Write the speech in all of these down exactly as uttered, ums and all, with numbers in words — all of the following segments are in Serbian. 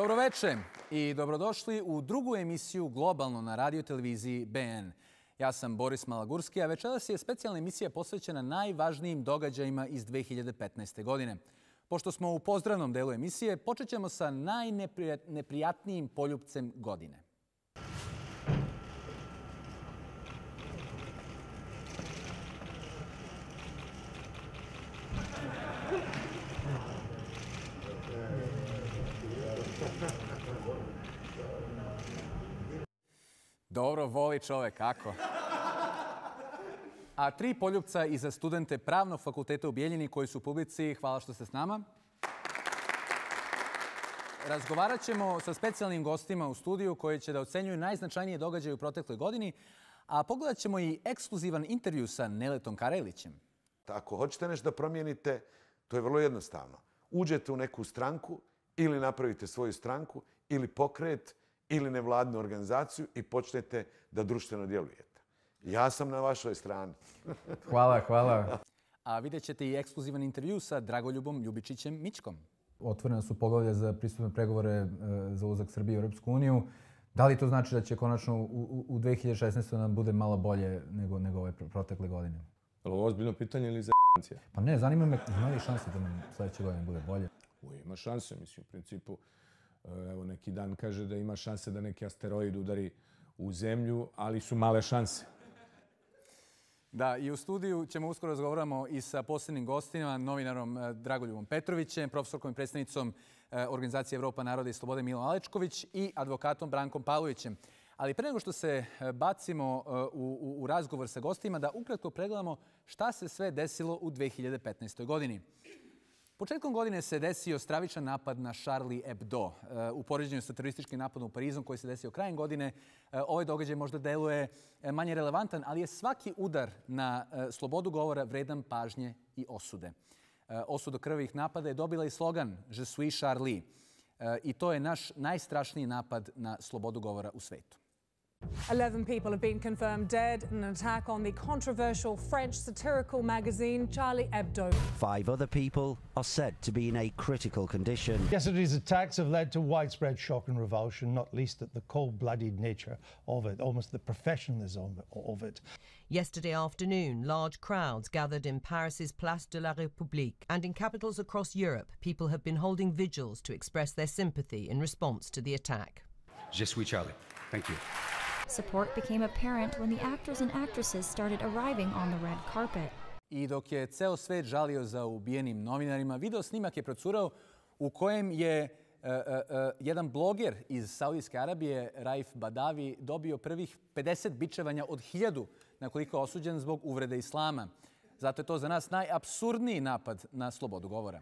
Dobroveče i dobrodošli u drugu emisiju Globalno na radio televiziji B N. Ja sam Boris Malagurski, a večeras je specijalna emisija posvećena najvažnijim događajima iz dve hiljade petnaeste. godine. Pošto smo u pozdravnom delu emisije, počet ćemo sa najneprijatnijim poljupcem godine. Dobro, voli čovek, kako? A tri poljupca i za studente Pravnog fakulteta u Bijeljini koji su u publici. Hvala što ste s nama. Razgovarat ćemo sa specijalnim gostima u studiju koji će da ocenjuju najznačajnije događaje u protekloj godini, a pogledat ćemo i ekskluzivan intervju sa Neletom Karelićem. Ako hoćete nešto da promijenite, to je vrlo jednostavno. Uđete u neku stranku ili napravite svoju stranku ili pokret ili nevladnu organizaciju i počnete da društveno djelujete. Ja sam na vašoj strani. Hvala, hvala. A vidjet ćete i ekskluzivan intervju sa Dragoljubom Ljubičićem Mićkom. Otvorena su poglavlja za pristupne pregovore za ulazak Srbije u Europsku uniju. Da li to znači da će konačno u, u dve hiljade šesnaestoj. nam bude malo bolje nego, nego ove protekle godine? Je li ovo ozbiljno pitanje ili za j***ancija? Pa ne, zanima me, ima li šanse da nam sljedeće godine bude bolje? U, ima šanse, mislim, u principu. Evo, neki dan kaže da ima šanse da neki asteroid udari u zemlju, ali su male šanse. Da, i u studiju ćemo uskoro razgovaramo i sa posebnim gostima, novinarom Dragoljubom Petrovićem, profesorkom i predstavnicom Organizacije Evropa, naroda i slobode Milom Alečković i advokatom Brankom Pavlovićem. Ali pre nego što se bacimo u, u, u razgovor sa gostima, da ukratko pregledamo šta se sve desilo u dve hiljade petnaestoj. godini. Početkom godine se desio stravičan napad na Charlie Hebdo. U poređenju sa terorističkim napadom u Parizu koji se desio krajem godine, ovaj događaj možda deluje manje relevantan, ali je svaki udar na slobodu govora vredan pažnje i osude. Osudu krvavih napada je dobila i slogan Je suis Charlie. I to je naš najstrašniji napad na slobodu govora u svetu. Eleven people have been confirmed dead in an attack on the controversial French satirical magazine Charlie Hebdo. Five other people are said to be in a critical condition. Yesterday's attacks have led to widespread shock and revulsion, not least at the cold-blooded nature of it, almost the professionalism of it. Yesterday afternoon, large crowds gathered in Paris's Place de la République, and in capitals across Europe, people have been holding vigils to express their sympathy in response to the attack. Je suis Charlie. Thank you. Support became apparent when the actors and actresses started arriving on the red carpet. I dok je ceo svet žalio za ubijenim novinarima, video snimak je procurao u kojem je uh, uh, uh, jedan bloger iz Saudijske Arabije, Raif Badavi, dobio prvih pedeset bičevanja od hiljadu na koliko je osuđen zbog uvrede islama. Zato je to za nas najapsurdniji napad na slobodu govora.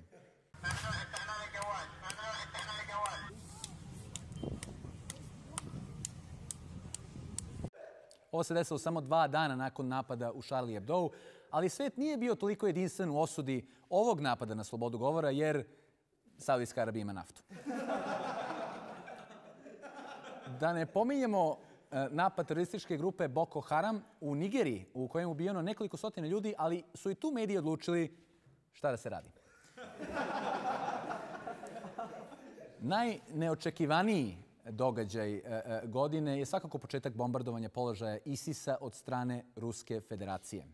Ovo se desilo samo dva dana nakon napada u Charlie Hebdo, ali svet nije bio toliko jedinstven u osudi ovog napada na slobodu govora, jer Saudijska Arabija ima naftu. Da ne pominjemo napad terorističke grupe Boko Haram u Nigeriji, u kojem je ubijeno nekoliko stotina ljudi, ali su i tu mediji odlučili šta da se radi. Najneočekivaniji događaj godine je svakako početak bombardovanja položaja ISIS-a od strane Ruske federacije.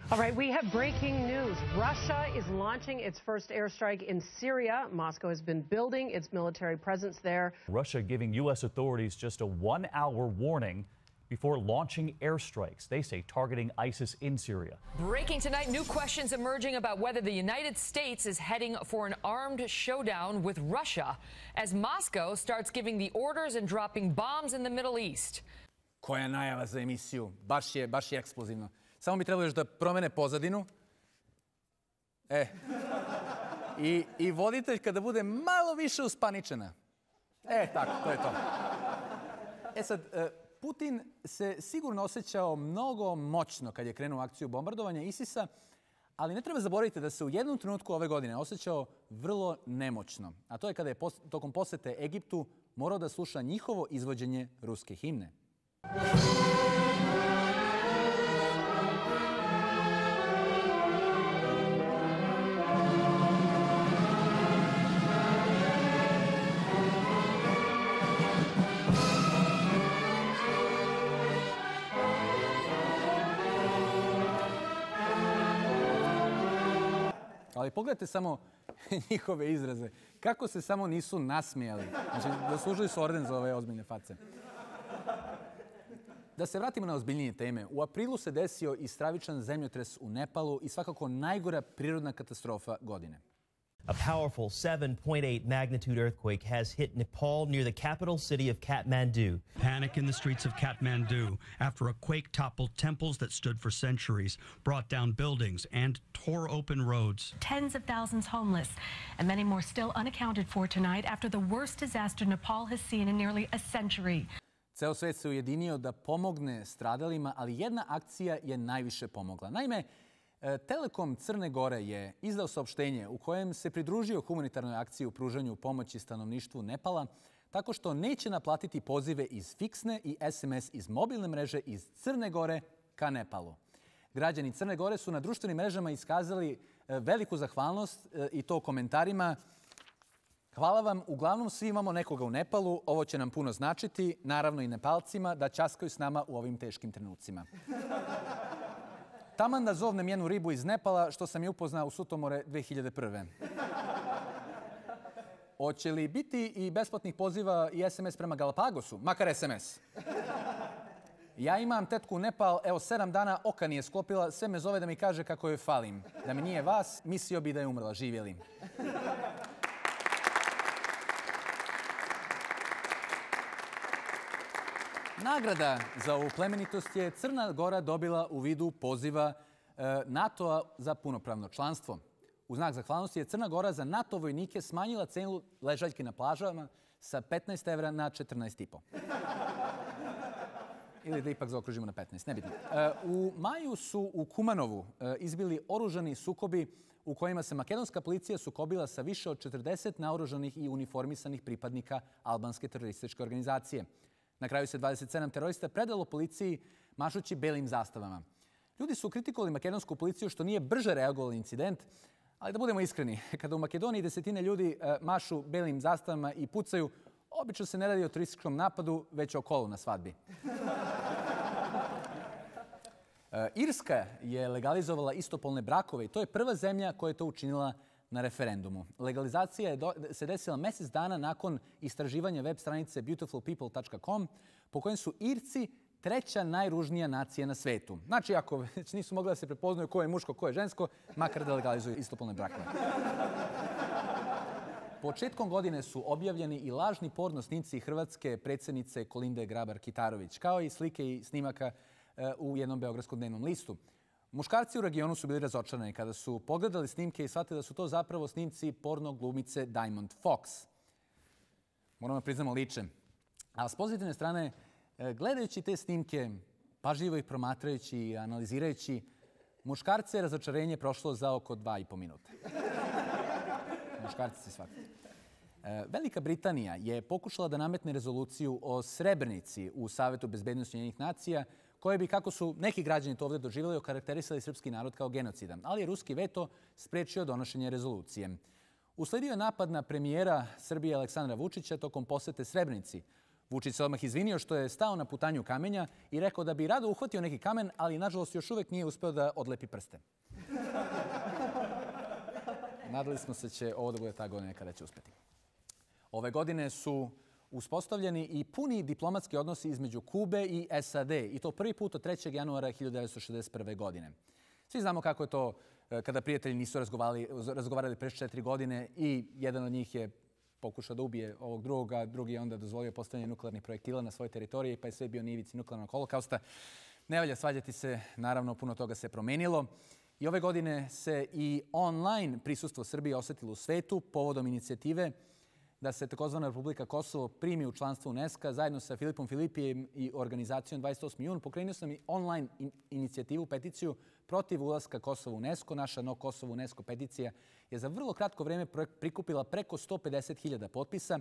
All right, we have breaking news. Russia is launching its first airstrike in Syria. Moscow has been building its military presence there. Russia giving U S authorities just a one-hour warning before launching airstrikes, they say targeting ISIS in Syria. Breaking tonight, new questions emerging about whether the United States is heading for an armed showdown with Russia as Moscow starts giving the orders and dropping bombs in the Middle East. Koja najava za emisiju. Baš je, baš je eksplozivno. Samo bi trebalo još da promene pozadinu. E. I, i voditelj kada bude malo više uspaničena. E, tako, to je to. E sad, Putin se sigurno osjećao mnogo moćno kad je krenuo akciju bombardovanja ISIS-a, ali ne treba zaboraviti da se u jednom trenutku ove godine osjećao vrlo nemoćno. A to je kada je tokom posete Egiptu morao da sluša njihovo izvođenje ruske himne. Ali pogledajte samo njihove izraze. Kako se samo nisu nasmijali. Znači, zaslužili su orden za ove ozbiljne face. Da se vratimo na ozbiljnije teme. U aprilu se desio i stravičan zemljotres u Nepalu i svakako najgora prirodna katastrofa godine. A powerful seven point eight magnitude earthquake has hit Nepal near the capital city of Kathmandu. Panic in the streets of Kathmandu after a quake toppled temples that stood for centuries, brought down buildings, and tore open roads. Tens of thousands homeless, and many more still unaccounted for tonight after the worst disaster Nepal has seen in nearly a century. Ceo svet se ujedinio da pomogne stradalima, ali jedna akcija je najviše pomogla. Naime, Telekom Crne Gore je izdao saopštenje u kojem se pridružio humanitarnoj akciji u pružanju pomoći stanovništvu Nepala tako što neće naplatiti pozive iz fiksne i es em es iz mobilne mreže iz Crne Gore ka Nepalu. Građani Crne Gore su na društvenim mrežama iskazali veliku zahvalnost i to komentarima. Hvala vam, uglavnom svi imamo nekoga u Nepalu, ovo će nam puno značiti, naravno i Nepalcima, da ćaskaju s nama u ovim teškim trenucima. Taman da zovnem jednu ribu iz Nepala, što sam je upoznao u Sutomore dve hiljade prve. Hoće li biti i besplatnih poziva i es em es prema Galapagosu? Makar es em es. Ja imam tetku u Nepal, evo sedam dana oka nije sklopila, sve me zove da mi kaže kako joj falim. Da mi nije vas, mislio bi da je umrla, živjeli. Nagrada za ovu plemenitost je Crna Gora dobila u vidu poziva NATO-a za punopravno članstvo. U znak zahvalnosti je Crna Gora za NATO vojnike smanjila cenu ležaljke na plažama sa petnaest evra na četrnaest i po. Ili da ipak zaokružimo na petnaest, nebitno. U maju su u Kumanovu izbili oružani sukobi u kojima se makedonska policija sukobila sa više od četrdeset naoružanih i uniformisanih pripadnika albanske terorističke organizacije. Na kraju se dvadeset sedam terorista predalo policiji mašući belim zastavama. Ljudi su kritikovali makedonsku policiju što nije brže reagovali incident, ali da budemo iskreni, kada u Makedoniji desetine ljudi mašu belim zastavama i pucaju, obično se ne radi o terorističkom napadu, već o kolu na svadbi. Irska je legalizovala istopolne brakove i to je prva zemlja koja je to učinila na referendumu. Legalizacija je se desila mjesec dana nakon istraživanja web stranice beautiful people dot com po kojem su Irci treća najružnija nacija na svetu. Znači, ako već nisu mogli da se prepoznaju ko je muško, ko je žensko, makar da legalizuju istopolne brakove. Početkom godine su objavljeni i lažni porno snimci hrvatske predsjednice Kolinde Grabar-Kitarović, kao i slike i snimaka u jednom beogradskom dnevnom listu. Muškarci u regionu su bili razočarani kada su pogledali snimke i shvatili da su to zapravo snimci porno glumice Diamond Fox. Moramo priznamo liče. A s pozitivne strane, gledajući te snimke, pažljivo ih promatrajući i analizirajući, muškarce je razočarenje prošlo za oko dva i po minuta. Muškarci se shvatili. Velika Britanija je pokušala da nametne rezoluciju o Srebrenici u Savetu bezbednosti Ujedinjenih nacija, koje bi, kako su neki građani to ovdje doživjeli, okarakterisali srpski narod kao genocidan. Ali je ruski veto sprečio donošenje rezolucije. Usledio je napad na premijera Srbije Aleksandra Vučića tokom posete Srebrenici. Vučić se odmah izvinio što je stao na putanju kamenja i rekao da bi rado uhvatio neki kamen, ali nažalost još uvijek nije uspeo da odlepi prste. Nadali smo se će ovo da bude ta godina kada će uspeti. Ove godine su uspostavljeni i puni diplomatski odnosi između Kube i es a de, i to prvi put od trećeg januara hiljadu devetsto šezdeset prve. godine. Svi znamo kako je to kada prijatelji nisu razgovarali, razgovarali pre četiri godine i jedan od njih je pokušao da ubije ovog drugog, a drugi je onda dozvolio postavljanje nuklearnih projektila na svojoj teritoriji, pa je sve bio na ivici nuklearnog holokausta. Ne valja svađati se, naravno puno toga se promenilo. I ove godine se i online prisustvo Srbije osetilo u svetu povodom inicijative da se takozvana Republika Kosovo primi u članstvo UNESCO zajedno sa Filipom Filipijem i organizacijom dvadeset osmi jun. Pokrenuo sam i online inicijativu, peticiju protiv ulaska Kosova u UNESCO. Naša No Kosovo UNESCO peticija je za vrlo kratko vreme prikupila preko sto pedeset hiljada potpisa,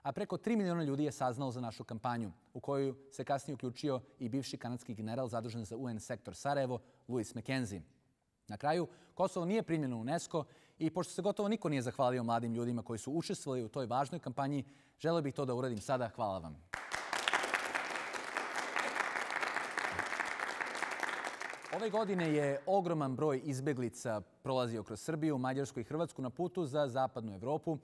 a preko tri miliona ljudi je saznalo za našu kampanju, u koju se kasnije uključio i bivši kanadski general zadužen za u en sektor Sarajevo, Louis McKenzie. Na kraju, Kosovo nije primljeno u UNESCO i pošto se gotovo niko nije zahvalio mladim ljudima koji su učestvovali u toj važnoj kampanji, želeo bih to da uradim sada. Hvala vam. Ove godine je ogroman broj izbeglica prolazio kroz Srbiju, Mađarsku i Hrvatsku na putu za zapadnu Evropu,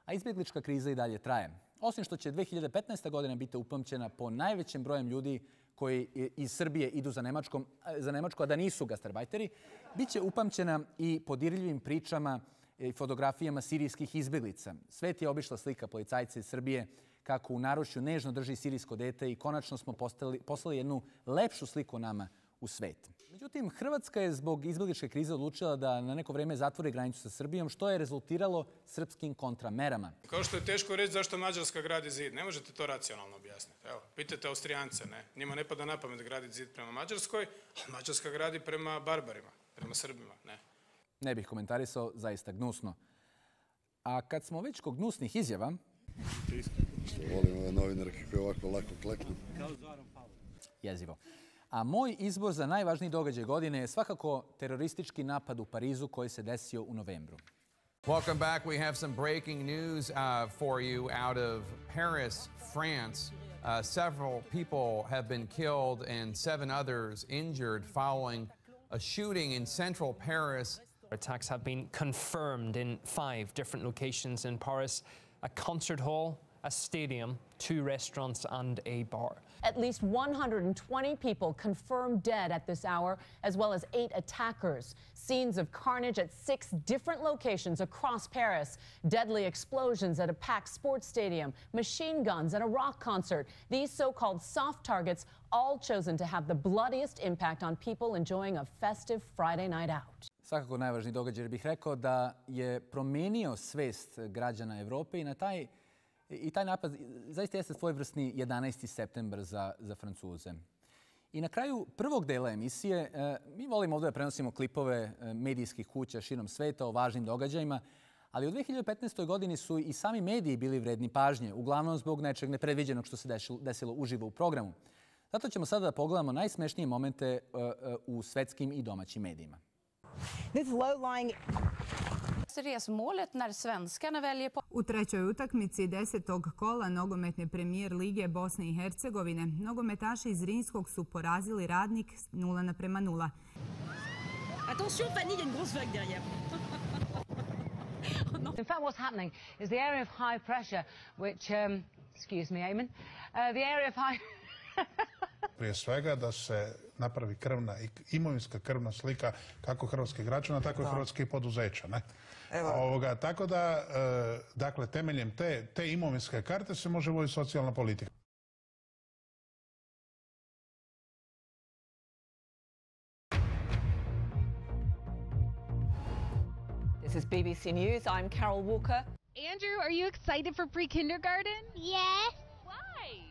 a izbeglička kriza i dalje traje. Osim što će dve hiljade petnaesta. godina biti upamćena po najvećem brojem ljudi koji iz Srbije idu za Nemačkom, za Nemačku, a da nisu gastarbajteri, bit će upamćena i po dirljivim pričama i fotografijama sirijskih izbeglica. Svet je obišla slika policajca iz Srbije kako u naručju nežno drži sirijsko dete i konačno smo postali, poslali jednu lepšu sliku nama u svet. Međutim, Hrvatska je zbog izbegličke krize odlučila da na neko vreme zatvori granicu sa Srbijom, što je rezultiralo srpskim kontramerama. Kao što je teško reći zašto Mađarska gradi zid, ne možete to racionalno objasniti. Evo, pitajte Austrijance, ne? Njima ne pada na pamet graditi zid prema Mađarskoj, a Mađarska gradi prema barbarima, prema Srbima, ne? Ne bih komentarisao, zaista gnusno. A kad smo već kod gnusnih izjava... Volim ove novinare kako je ovako lako kleknu. Jezivo. A moj izbor za najvažniji događaj godine je svakako teroristički napad u Parizu koji se desio u novembru. Welcome back. We have some breaking news uh, for you out of Paris, France. Uh, several people have been killed and seven others injured following a shooting in central Paris. Attacks have been confirmed in five different locations in Paris: a concert hall, a stadium, two restaurants and a bar. At least one hundred twenty people confirmed dead at this hour, as well as eight attackers. Scenes of carnage at six different locations across Paris. Deadly explosions at a packed sports stadium, machine guns at a rock concert. These so-called soft targets all chosen to have the bloodiest impact on people enjoying a festive Friday night out. Svakako najvažniji događaj, bih rekao da je promenio svest građana Evrope i na taj I taj napad zaista jeste svojevrsni jedanaesti septembar za, za Francuze. I na kraju prvog dela emisije mi volimo ovdje da prenosimo klipove medijskih kuća širom sveta o važnim događajima, ali u dve hiljade petnaestoj. godini su i sami mediji bili vredni pažnje, uglavnom zbog nečeg nepredviđenog što se desilo uživo u programu. Zato ćemo sada da pogledamo najsmešnije momente u svetskim i domaćim medijima. This low-lying resmålet när svenskarna väljer på... U trećoj utakmici desetog kola nogometne premijer lige Bosne i Hercegovine nogometaši iz Rinskog su porazili Radnik nula naprema nula. Attention Fanny, il y a une grosse vague derrière. In fact, what's happening is the area of high pressure, which, um, excuse me, Eamon, uh, the area of high... Prije svega da se napravi krvna, imovinska krvna slika kako hrvatskih građana, tako i hrvatskih poduzeća. Ne? Ovoga, tako da, e, dakle, temeljem te, te imovinske karte se može voditi socijalna politika. This is B B C News. I'm Carol Walker. Andrew, are you excited for pre-kindergarten? Yes. Why?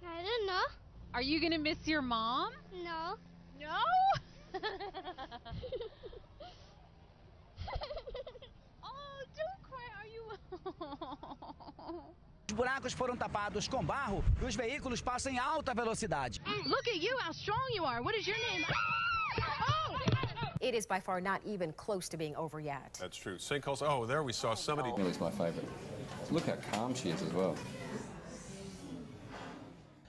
I don't know. Are you going to miss your mom? No. No? Oh, don't cry. Are you... Os buracos foram tapados com barro e os veículos passam em alta velocidade. Look at you, how strong you are. What is your name? Oh! It is by far not even close to being over yet. That's true. Sinkholes. Oh, there we saw somebody. Millie's my favorite. Look how calm she is as well.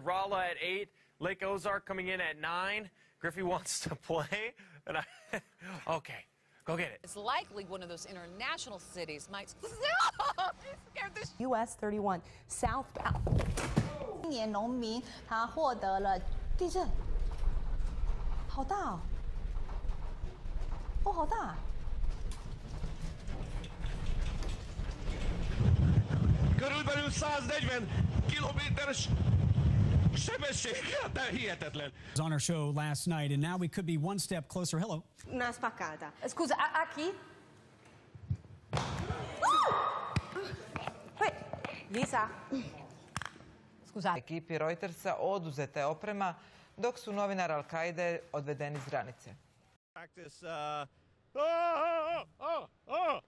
Rolla at eight, Lake Ozark coming in at nine. Griffey wants to play, and I. Okay, go get it. It's likely one of those international cities might. U S thirty-one southbound. 今年农民他获得了地震，好大哦！哦，好大。 Körülbelül száznegyven kilométeres sebességgel, de hihetetlen. On our show last night, and now we could be one step closer. Hello. Una spaccata. Scusa, a, a chi? Lisa. Scusa. Ekipi Reutersa oduzeta je oprema, dok su novinar Al-Kaide odvedeni s granice. Practice, uh... oh, oh, oh.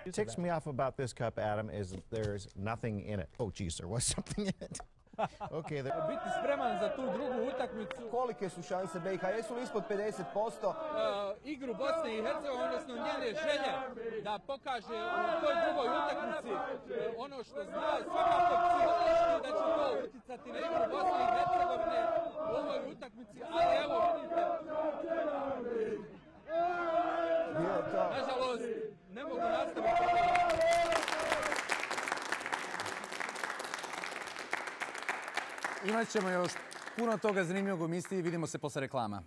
What ticks me off about this cup, Adam, is there's nothing in it. Oh, geez, there was something in it. Okay, there... Biti spreman za tu drugu utakmicu. Kolike su šanse B i H? Jesu li ispod pedeset posto? Uh, igru Bosne i Hercegovine, odnosno njene želje da pokaže u toj drugoj utakmici uh, ono što zna, svakako psihološki da će to uticati na igru Bosne i Hercegovine. utakmici, ali evo vidite. Nažalost, ne mogu nastaviti. Imat ćemo još puno toga zanimljivog u emisiji. Vidimo se posle reklama.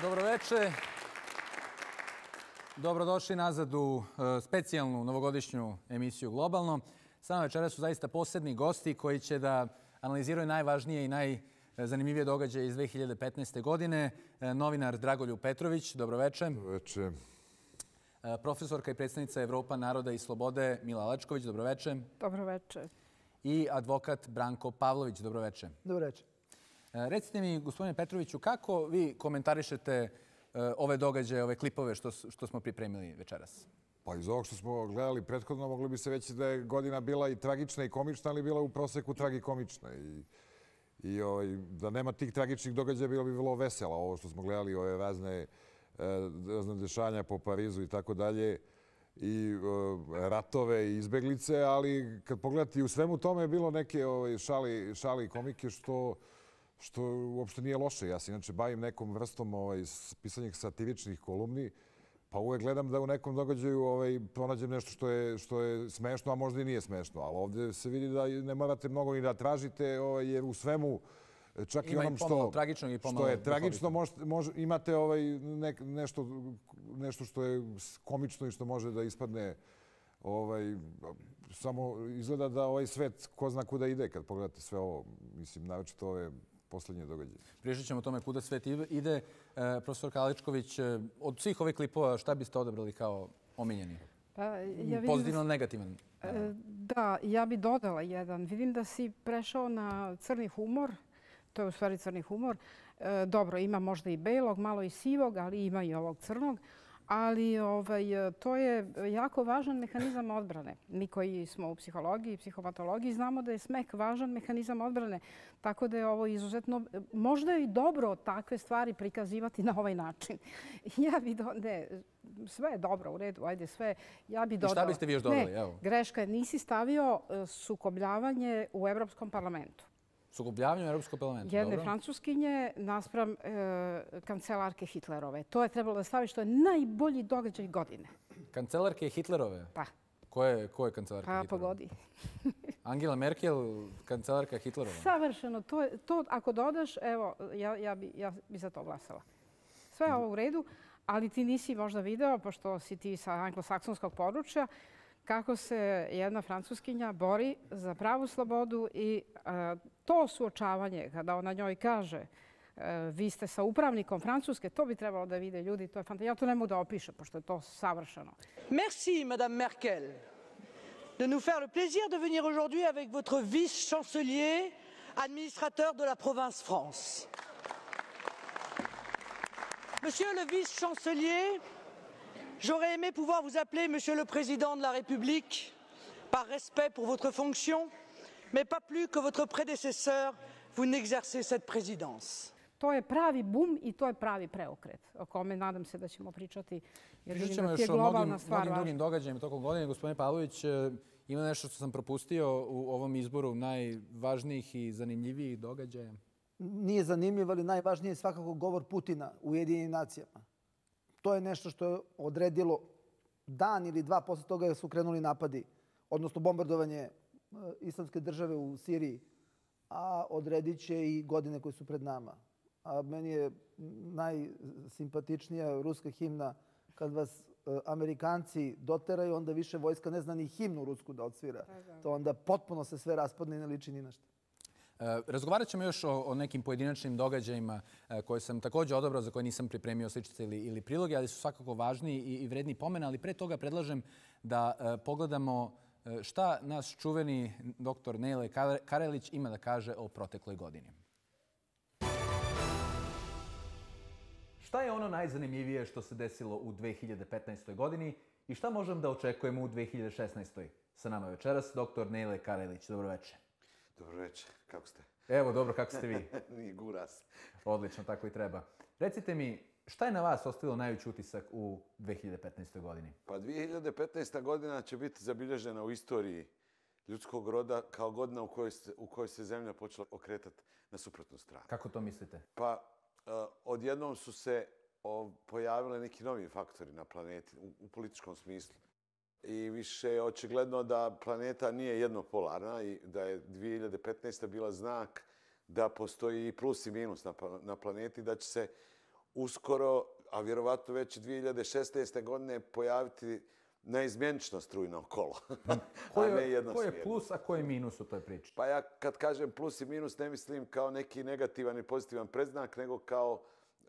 Dobroveče. Dobrodošli nazad u specijalnu novogodišnju emisiju Globalno. S nama večeras su zaista posebni gosti koji će da analiziraju najvažnije i najzanimljivije događaje iz dve hiljade petnaeste. godine. Novinar Dragoljub Petrović, dobroveče. Dobroveče. Profesorka i predstavnica Evropa naroda i slobode Mila Alečković, dobroveče. Dobroveče. I advokat Branko Pavlović, dobroveče. Dobroveče. Recite mi, gospodine Petroviću, kako vi komentarišete ove događaje, ove klipove što, što smo pripremili večeras? Pa iz ovog što smo gledali prethodno mogli bi se reći da je godina bila i tragična i komična, ali bila u proseku tragikomična. I, i ovaj, da nema tih tragičnih događaja bilo bi vrlo vesela. Ovo što smo gledali, ove razne, razne dešanja po Parizu i tako dalje, i ratove i izbeglice, ali kad pogledate i u svemu tome je bilo neke ovaj, šali, šali i komike što što uopšte nije loše. Ja se inače bavim nekom vrstom ovaj, pisanjem satiričnih kolumni, pa uvek gledam da u nekom događaju ovaj, pronađem nešto što je, što je smešno, a možda i nije smešno. Ali ovdje se vidi da ne morate mnogo ni da tražite, ovaj, jer u svemu, čak Ima i onom i što, tragičnog i što je tragično, mož, mož, imate ovaj, ne, nešto, nešto što je komično i što može da ispadne. Ovaj, samo izgleda da ovaj svet ko zna kuda ide kad pogledate sve ovo. Mislim, naročito ove poslednje događaje. Pričat ćemo o tome kuda svet ide. Profesor Alečković, od svih ovih klipova šta biste odabrali kao omiljeni? Pa, ja Pozitivno ili negativan? Da, ja bi dodala jedan. Vidim da si prešao na crni humor. To je u stvari crni humor. Dobro, ima možda i belog, malo i sivog, ali ima i ovog crnog. Ali ovaj, to je jako važan mehanizam odbrane. Mi koji smo u psihologiji i psihopatologiji znamo da je smeh važan mehanizam odbrane. Tako da je ovo izuzetno... Možda je i dobro takve stvari prikazivati na ovaj način. Ja bi do... Ne, sve je dobro, u redu, ajde sve. Ja bi dodala... I šta biste vi još dodali? Ne, evo. Greška je, nisi stavio sukobljavanje u Evropskom parlamentu. Sukobljavanje u Europskom parlamentu, jedne dobro. Francuskinje naspram e, kancelarke Hitlerove. To je trebalo da stavi što je najbolji događaj godine. Kancelarke Hitlerove? Pa. Ko je, ko je kancelarka pa, Hitlerove? Pa pogodi. Angela Merkel, kancelarka Hitlerova? Savršeno. To, je, to ako dodaš, evo, ja, ja, bi, ja bi za to glasala. Sve je ovo u redu, ali ti nisi možda video, pošto si ti sa anglosaksonskog područja, kako se jedna Francuskinja bori za pravu slobodu i a, to suočavanje, kada ona njoj kaže a, vi ste sa upravnikom Francuske, to bi trebalo da vide ljudi. To je fantastično. Ja to ne mogu da opišem, pošto je to savršeno. Merci, Madame Merkel, de nous faire le plaisir de venir aujourd'hui avec votre vice-chancelier, administrateur de la province France. Monsieur le vice-chancelier, j'aurais aimé pouvoir vous appeler Monsieur le Président de la République, par respect pour votre fonction, mais pas plus que votre prédécesseur, vous n'exercez cette présidence. To je pravi bum i to je pravi preokret, o kome nadam se da ćemo pričati. Pričat ćemo još o mnogim, mnogim drugim događajima tokom godine. Gospodine Pavlović, ima nešto što sam propustio u ovom izboru najvažnijih i zanimljivijih događaja? Nije zanimljiv, ali najvažnije je svakako govor Putina u Ujedinjenim nacijama. To je nešto što je odredilo dan ili dva posle toga su krenuli napadi, odnosno bombardovanje islamske države u Siriji, a odredit će i godine koje su pred nama. A meni je najsimpatičnija ruska himna kad vas Amerikanci doteraju, onda više vojska ne zna ni himnu rusku da odsvira. To onda potpuno se sve raspadne i ne liči ni na šta. Razgovarat ćemo još o, o nekim pojedinačnim događajima koje sam također odabrao, za koje nisam pripremio sličice ili, ili priloge, ali su svakako važni i, i vredni pomena. Ali pre toga predlažem da uh, pogledamo šta naš čuveni doktor Nejle Karelić ima da kaže o protekloj godini. Šta je ono najzanimljivije što se desilo u dve hiljade petnaestoj. godini i šta možemo da očekujemo u dve hiljade šesnaestoj. Sa nama večeras doktor Nejle Karelić. Dobroveče. Dobroveče, kako ste? Evo, dobro, kako ste vi? Ni guras. Odlično, tako i treba. Recite mi, šta je na vas ostavilo najveći utisak u dve hiljade petnaestoj. godini? Pa dve hiljade petnaesta. godina će biti zabilježena u istoriji ljudskog roda kao godina u kojoj se, u kojoj se zemlja počela okretati na suprotnu stranu. Kako to mislite? Pa uh, odjednom su se o, pojavile neki novi faktori na planeti u, u političkom smislu. I više je očigledno da planeta nije jednopolarna i da je dvije hiljade petnaesta bila znak da postoji i plus i minus na, na planeti, da će se uskoro, a vjerovatno već dvije hiljade šesnaeste godine pojaviti neizmjenično strujno kolo. Ko je, ko je plus, a ko je minus u toj priči? Pa ja kad kažem plus i minus ne mislim kao neki negativan i pozitivan predznak, nego kao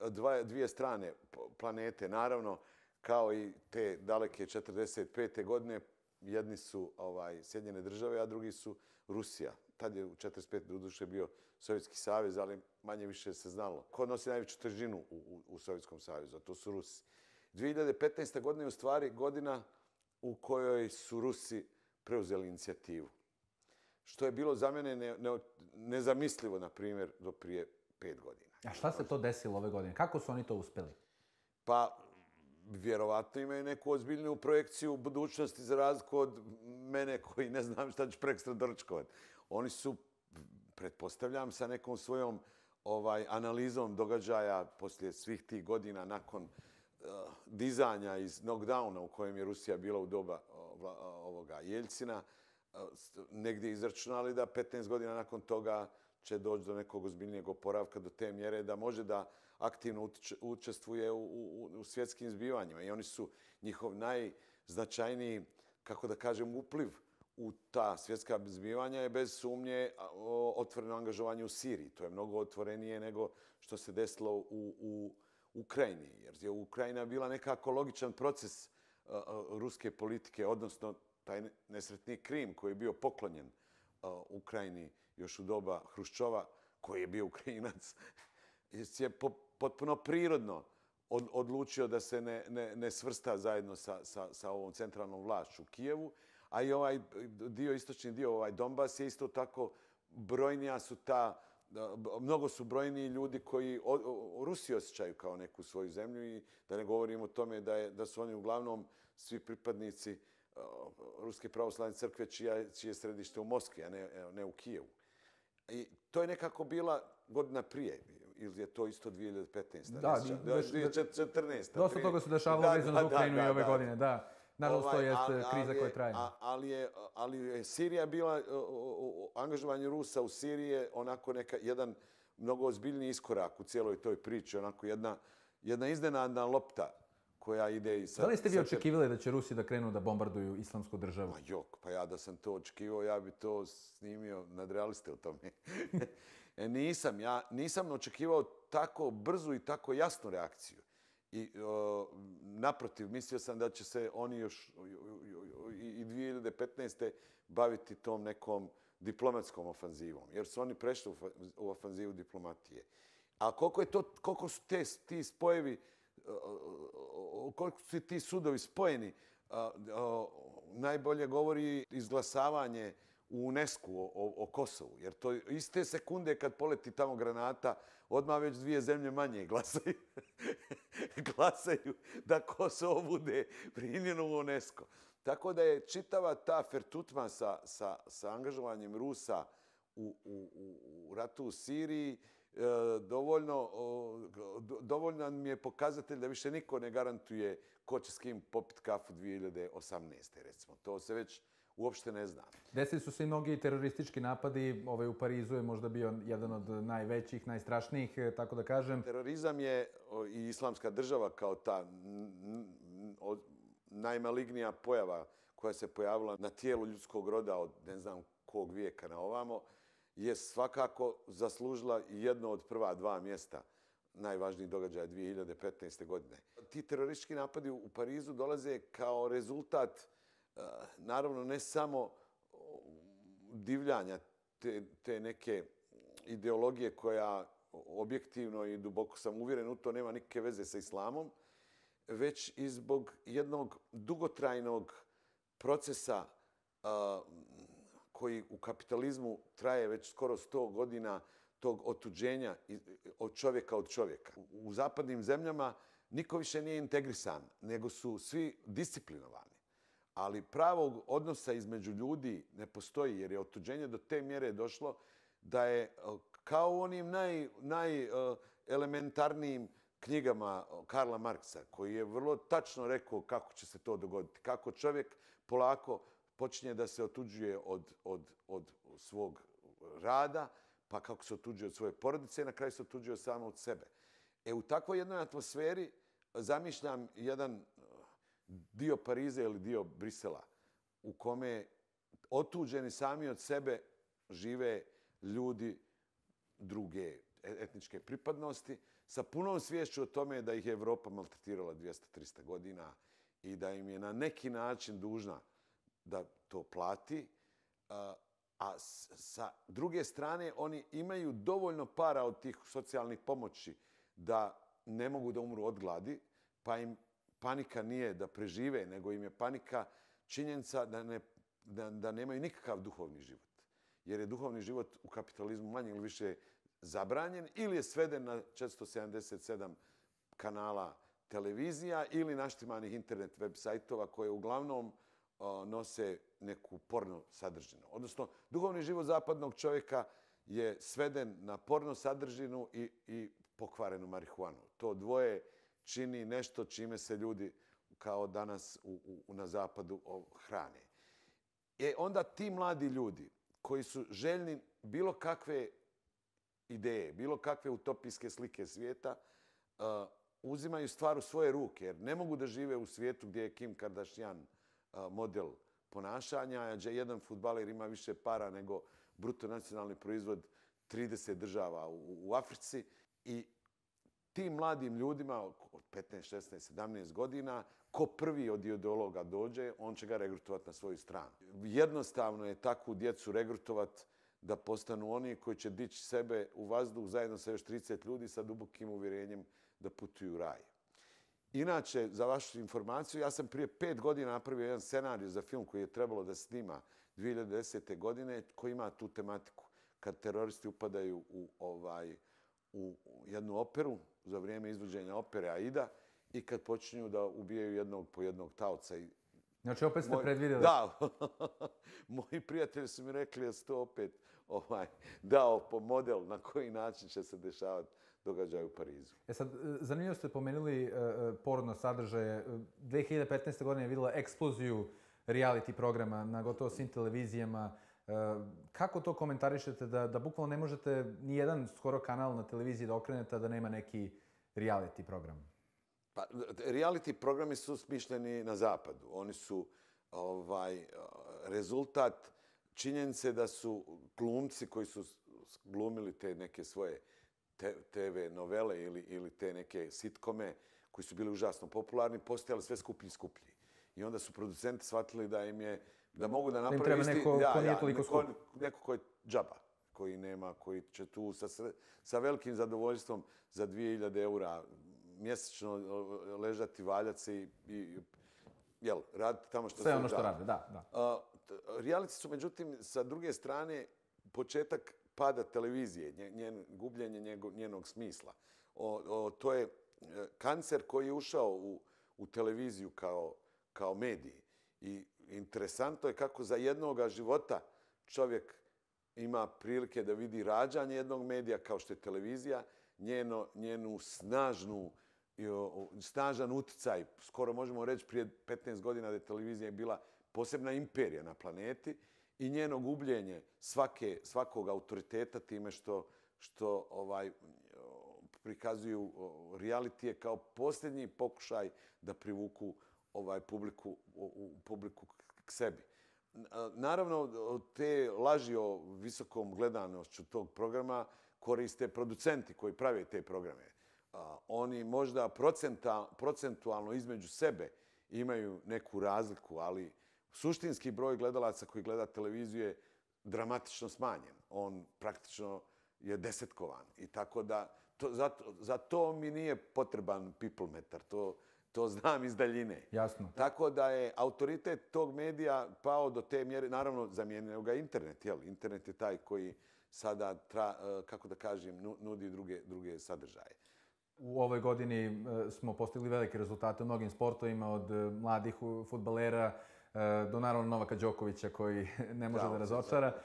dva, dvije strane planete. Naravno, kao i te daleke četrdeset pete godine, jedni su ovaj, Sjedinjene države, a drugi su Rusija. Tad je u četrdeset petoj doduše bio Sovjetski savez, ali manje više se znalo. Ko nosi najveću težinu u, u, u Sovjetskom savezu, a to su Rusi. dvije hiljade petnaesta godina je u stvari godina u kojoj su Rusi preuzeli inicijativu. Što je bilo za mene ne, ne, nezamislivo, na primjer, do prije pet godina. A šta se to desilo ove godine? Kako su oni to uspjeli? Pa, vjerovatno imaju neku ozbiljnu projekciju budućnosti za razliku od mene koji ne znam šta ću prekstra doručkovati. Oni su, pretpostavljam, sa nekom svojom ovaj, analizom događaja poslije svih tih godina nakon uh, dizanja iz knockdowna u kojem je Rusija bila u doba uh, ovoga Jeljcina, uh, negdje izračunali da petnaest godina nakon toga će doći do nekog ozbiljnijeg oporavka do te mjere da može da aktivno učestvuje u, u, u svjetskim zbivanjima. I oni su njihov najznačajniji, kako da kažem, upliv u ta svjetska zbivanja je bez sumnje otvoreno angažovanje u Siriji. To je mnogo otvorenije nego što se desilo u, u Ukrajini. Jer je Ukrajina bila nekako logičan proces uh, ruske politike, odnosno taj nesretni Krim koji je bio poklonjen uh, Ukrajini još u doba Hruščova, koji je bio Ukrajinac, je po, potpuno prirodno od, odlučio da se ne, ne, ne svrsta zajedno sa, sa, sa ovom centralnom vlašću u Kijevu. A i ovaj dio, istočni dio, ovaj Donbas je isto tako brojnija su ta, mnogo su brojniji ljudi koji o, o, Rusiju osjećaju kao neku svoju zemlju i da ne govorimo o tome da, je, da su oni uglavnom svi pripadnici uh, Ruske pravoslavne crkve čija, čije je središte u Moskvi, a ne, ne u Kijevu. I to je nekako bila godina prije, ili je to isto dvije hiljade petnaeste. Da, dvije hiljade četrnaeste. Dosta toga se dešavalo vezano za Ukrajinu i ove godine, da. Naravno, ovaj, to je kriza koja traje. Ali je, ali je Sirija bila, angažovanje Rusa u Siriji je onako neka, jedan mnogo ozbiljniji iskorak u cijeloj toj priči, onako jedna, jedna iznenadna lopta koja ide i sa... Da li ste vi očekivali da će Rusi da krenu da bombarduju islamsku državu? Ma jok, pa ja da sam to očekivao, ja bi to snimio nadrealiste u tome. e, nisam, ja nisam očekivao tako brzu i tako jasnu reakciju. I o, naprotiv, mislio sam da će se oni još i, i dvije hiljade petnaeste baviti tom nekom diplomatskom ofanzivom, jer su oni prešli u, u ofanzivu diplomatije. A koliko, je to, koliko su te, ti spojevi, koliko su ti sudovi spojeni, najbolje govori izglasavanje u UNESCO o, o Kosovu. Jer to iste sekunde kad poleti tamo granata, odmah već dvije zemlje manje glasaju. glasaju da Kosovo bude primljeno u UNESCO. Tako da je čitava ta fertutma sa, sa, sa angažovanjem Rusa u, u, u ratu u Siriji e, dovoljno, do, dovoljno mi je pokazatelj da više niko ne garantuje ko će s kim popit kafu dvije hiljade osamnaeste. Recimo. To se već uopšte ne zna. Desili su se i mnogi teroristički napadi. Ovaj u Parizu je možda bio jedan od najvećih, najstrašnijih, tako da kažem. Terorizam je i islamska država kao ta najmalignija pojava koja se pojavila na tijelu ljudskog roda od ne znam kog vijeka na ovamo, je svakako zaslužila jedno od prva dva mjesta najvažnijih događaja dvije hiljade petnaeste. godine. Ti teroristički napadi u Parizu dolaze kao rezultat naravno ne samo divljanja te, te neke ideologije koja objektivno i duboko sam uvjeren u to nema nikakve veze sa islamom, već i zbog jednog dugotrajnog procesa a, koji u kapitalizmu traje već skoro sto godina, tog otuđenja od čovjeka od čovjeka. U zapadnim zemljama niko više nije integrisan, nego su svi disciplinovani. Ali pravog odnosa između ljudi ne postoji, jer je otuđenje do te mjere došlo da je kao u onim naj, najelementarnijim knjigama Karla Marksa, koji je vrlo tačno rekao kako će se to dogoditi. Kako čovjek polako počinje da se otuđuje od, od, od svog rada, pa kako se otuđuje od svoje porodice i na kraju se otuđuje samo od sebe. E, u takvoj jednoj atmosferi zamišljam jedan dio Pariza ili dio Brisela u kome otuđeni sami od sebe žive ljudi druge etničke pripadnosti sa punom sviješću o tome da ih je Evropa maltretirala dvjesto do trista godina i da im je na neki način dužna da to plati. A sa druge strane, oni imaju dovoljno para od tih socijalnih pomoći da ne mogu da umru od gladi, pa im panika nije da prežive, nego im je panika činjenica da, ne, da, da nemaju nikakav duhovni život. Jer je duhovni život u kapitalizmu manje ili više zabranjen ili je sveden na četiristo sedamdeset sedam kanala televizija ili naštimanih internet web sajtova koje uglavnom o, nose neku porno sadržinu. Odnosno, duhovni život zapadnog čovjeka je sveden na porno sadržinu i, i pokvarenu marihuanu. To dvoje čini nešto čime se ljudi kao danas u, u, na zapadu hrane. E onda ti mladi ljudi koji su željni bilo kakve ideje, bilo kakve utopijske slike svijeta, uh, uzimaju stvar u svoje ruke, jer ne mogu da žive u svijetu gdje je Kim Kardashian uh, model ponašanja, gdje jedan fudbaler ima više para nego bruto nacionalni proizvod trideset država u, u Africi. I tim mladim ljudima od petnaest, šesnaest, sedamnaest godina, ko prvi od ideologa dođe, on će ga regrutovati na svoju stranu. Jednostavno je takvu djecu regrutovati da postanu oni koji će dići sebe u vazduh zajedno sa još trideset ljudi sa dubokim uvjerenjem da putuju u raj. Inače, za vašu informaciju, ja sam prije pet godina napravio jedan scenarij za film koji je trebalo da snima dvije hiljade desete. godine, koji ima tu tematiku. Kad teroristi upadaju u, ovaj, u jednu operu za vrijeme izvođenja opere Aida i kad počinju da ubijaju jednog po jednog taoca. I znači, opet ste moj, predvidjeli. Da. Moji prijatelji su mi rekli da su to opet ovaj, dao po model na koji način će se dešavati događaj u Parizu. E sad, zanimljivo ste pomenuli uh, porno sadržaje. dvije hiljade petnaeste. godine je vidjela eksploziju reality programa na gotovo svim televizijama. Uh, kako to komentarišete da, da bukvalno ne možete ni jedan skoro kanal na televiziji da okrenete da nema neki reality program? Pa, reality programi su smišljeni na zapadu. Oni su ovaj, rezultat činjenice da su glumci koji su glumili te neke svoje te ve novele ili, ili te neke sitkome koji su bili užasno popularni, postajali sve skuplji i skuplji. I onda su producenti shvatili da im je, da mogu da napravi isti... Neko ja, ko nije ja, toliko skup. Neko, neko ko je džaba, koji nema, koji će tu sa, sa velikim zadovoljstvom za dvije hiljade eura mjesečno ležati, valjati se i, i jel, raditi tamo što sve ono što rade, da. da. Uh, reality su, međutim, sa druge strane, početak pada televizije, njen, gubljenje njego, njenog smisla. O, o, to je kancer koji je ušao u, u televiziju kao, kao medij. I interesantno je kako za jednoga života čovjek ima prilike da vidi rađanje jednog medija kao što je televizija, njeno, njenu snažnu, snažan uticaj. Skoro možemo reći prije petnaest godina da je televizija bila posebna imperija na planeti i njeno gubljenje svake, svakog autoriteta time što, što ovaj, prikazuju realitije kao posljednji pokušaj da privuku ovaj publiku, u, publiku k sebi. Naravno, te laži o visokom gledanošću tog programa koriste producenti koji prave te programe. Oni možda procenta, procentualno između sebe imaju neku razliku, ali suštinski broj gledalaca koji gleda televiziju je dramatično smanjen. On praktično je desetkovan. I tako da, to, za, za to mi nije potreban people metar. To, to znam iz daljine. Jasno. Tako da je autoritet tog medija pao do te mjere, naravno zamijenio ga internet. Jel? Internet je taj koji sada, tra, kako da kažem, nudi druge, druge sadržaje. U ovoj godini smo postigli velike rezultate u mnogim sportovima, od mladih fudbalera do naravno Novaka Đokovića koji ne može da razočara.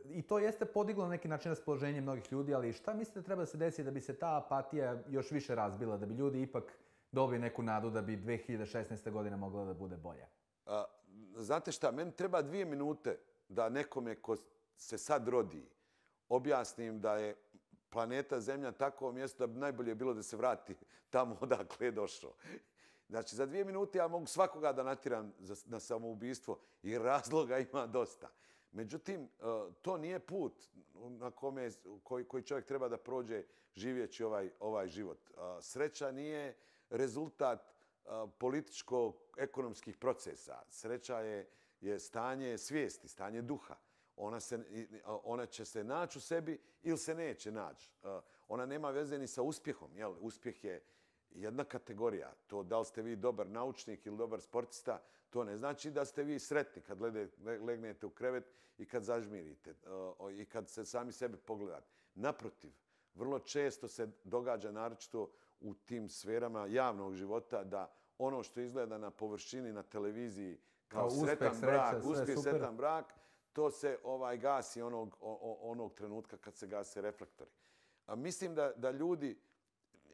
I to jeste podiglo na neki način raspoloženje mnogih ljudi, ali šta mislite da treba da se desi da bi se ta apatija još više razbila, da bi ljudi ipak dobili neku nadu da bi dve hiljade šesnaesta godina mogla da bude bolja? Znate šta, meni treba dvije minute da nekome ko se sad rodi objasnim da je planeta Zemlja takvo mjesto da bi najbolje bilo da se vrati tamo odakle je došao. Znači, za dvije minute ja mogu svakoga da natiram na samoubistvo i razloga ima dosta. Međutim, to nije put na kome, koji, koji čovjek treba da prođe živjeći ovaj, ovaj život. Sreća nije rezultat političko-ekonomskih procesa. Sreća je, je stanje svijesti, stanje duha. Ona, se, ona će se naći u sebi ili se neće naći. Ona nema veze ni sa uspjehom. Jel? Uspjeh je jedna kategorija. To da li ste vi dobar naučnik ili dobar sportista, to ne znači da ste vi sretni kad legnete u krevet i kad zažmirite i kad se sami sebe pogledate. Naprotiv, vrlo često se događa, naročito u tim sferama javnog života, da ono što izgleda na površini, na televiziji, kao sretan brak, uspjeh, sretan brak, to se ovaj gasi onog, onog trenutka kad se gase reflektori. A mislim da, da ljudi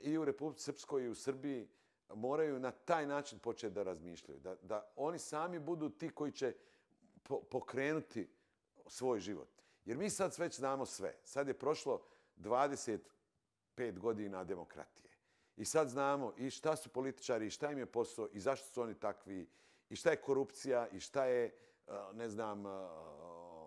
i u Republici Srpskoj i u Srbiji moraju na taj način početi da razmišljaju. Da, da oni sami budu ti koji će po, pokrenuti svoj život. Jer mi sad već znamo sve. Sad je prošlo dvadeset pet godina demokratije. I sad znamo i šta su političari, i šta im je posao, i zašto su oni takvi, i šta je korupcija, i šta je, ne znam,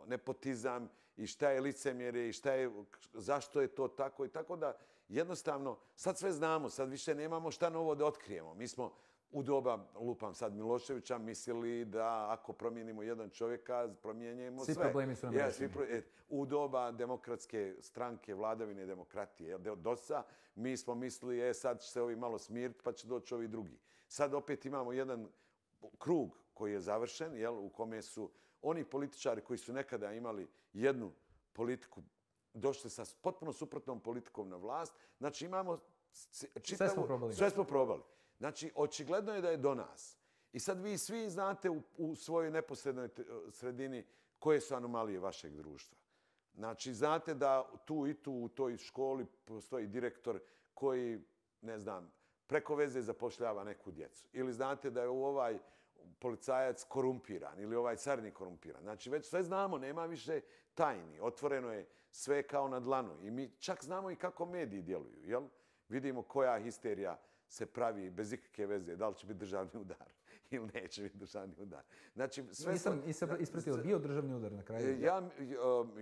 nepotizam, i šta je licemjerje, i šta je, zašto je to tako. I tako da jednostavno sad sve znamo, sad više nemamo šta novo da otkrijemo. Mi smo u doba, lupam sad Miloševića, mislili da ako promijenimo jedan čovjeka, promijenjemo sve. Svi problemi su nam rešeni. U doba demokratske stranke, vladavine demokratije, dosa, mi smo mislili, e, sad će se ovi malo smiriti, pa će doći ovi drugi. Sad opet imamo jedan krug koji je završen, jel, u kome su oni političari koji su nekada imali jednu politiku, došli sa potpuno suprotnom politikom na vlast. Znači imamo čitavu... Sve smo probali. Sve smo probali. Znači, očigledno je da je do nas. I sad vi svi znate u, u svojoj neposrednoj sredini koje su anomalije vašeg društva. Znači, znate da tu i tu u toj školi postoji direktor koji, ne znam, preko veze zapošljava neku djecu. Ili znate da je u ovaj policajac korumpiran ili ovaj carni korumpiran. Znači, već sve znamo, nema više tajni. Otvoreno je sve kao na dlanu. I mi čak znamo i kako mediji djeluju. Jel? Vidimo koja histerija se pravi bez ikakve veze. Da li će biti državni udar ili neće biti državni udar. Znači, sve nisam ispratio, bio državni udar na kraju? Ja,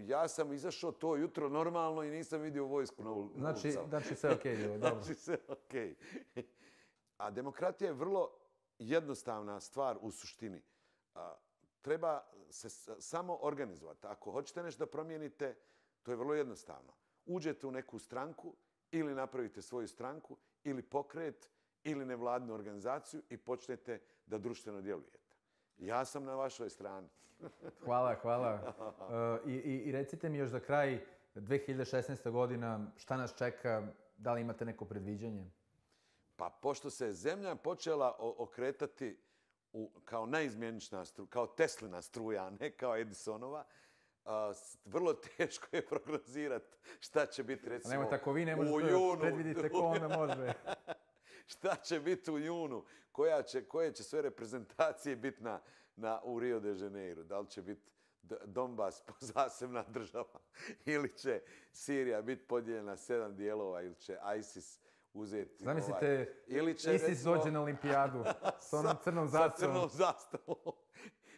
ja sam izašao to jutro normalno i nisam vidio vojsku na ulicu. Znači, znači sve okej, okay, dobro. Znači sve okej. Okay. A demokratija je vrlo jednostavna stvar u suštini. Treba se samo organizovati. Ako hoćete nešto da promijenite, to je vrlo jednostavno. Uđete u neku stranku ili napravite svoju stranku ili pokret ili nevladnu organizaciju i počnete da društveno djelujete. Ja sam na vašoj strani. Hvala, hvala. I, i, I recite mi još za kraj, dve hiljade šesnaesta godina, šta nas čeka? Da li imate neko predviđanje? Pa pošto se zemlja počela okretati u, kao najizmjenična struja, kao Teslina struja, a ne kao Edisonova, a, vrlo teško je prognozirati šta će biti, recimo, Nemo, tako vi ne možete u junu. Predvidite ko onda može. Šta će biti u junu? Koja će, koje će sve reprezentacije biti na, na, u Rio de Janeiro? Da li će biti Donbas zasebna država? Ili će Sirija biti podijeljena na sedam dijelova? Ili će ISIS uzeti... Zamislite, ovaj, će, ISIS recimo, dođe na olimpijadu s onom crnom zastavom. Sa crnom zastavom.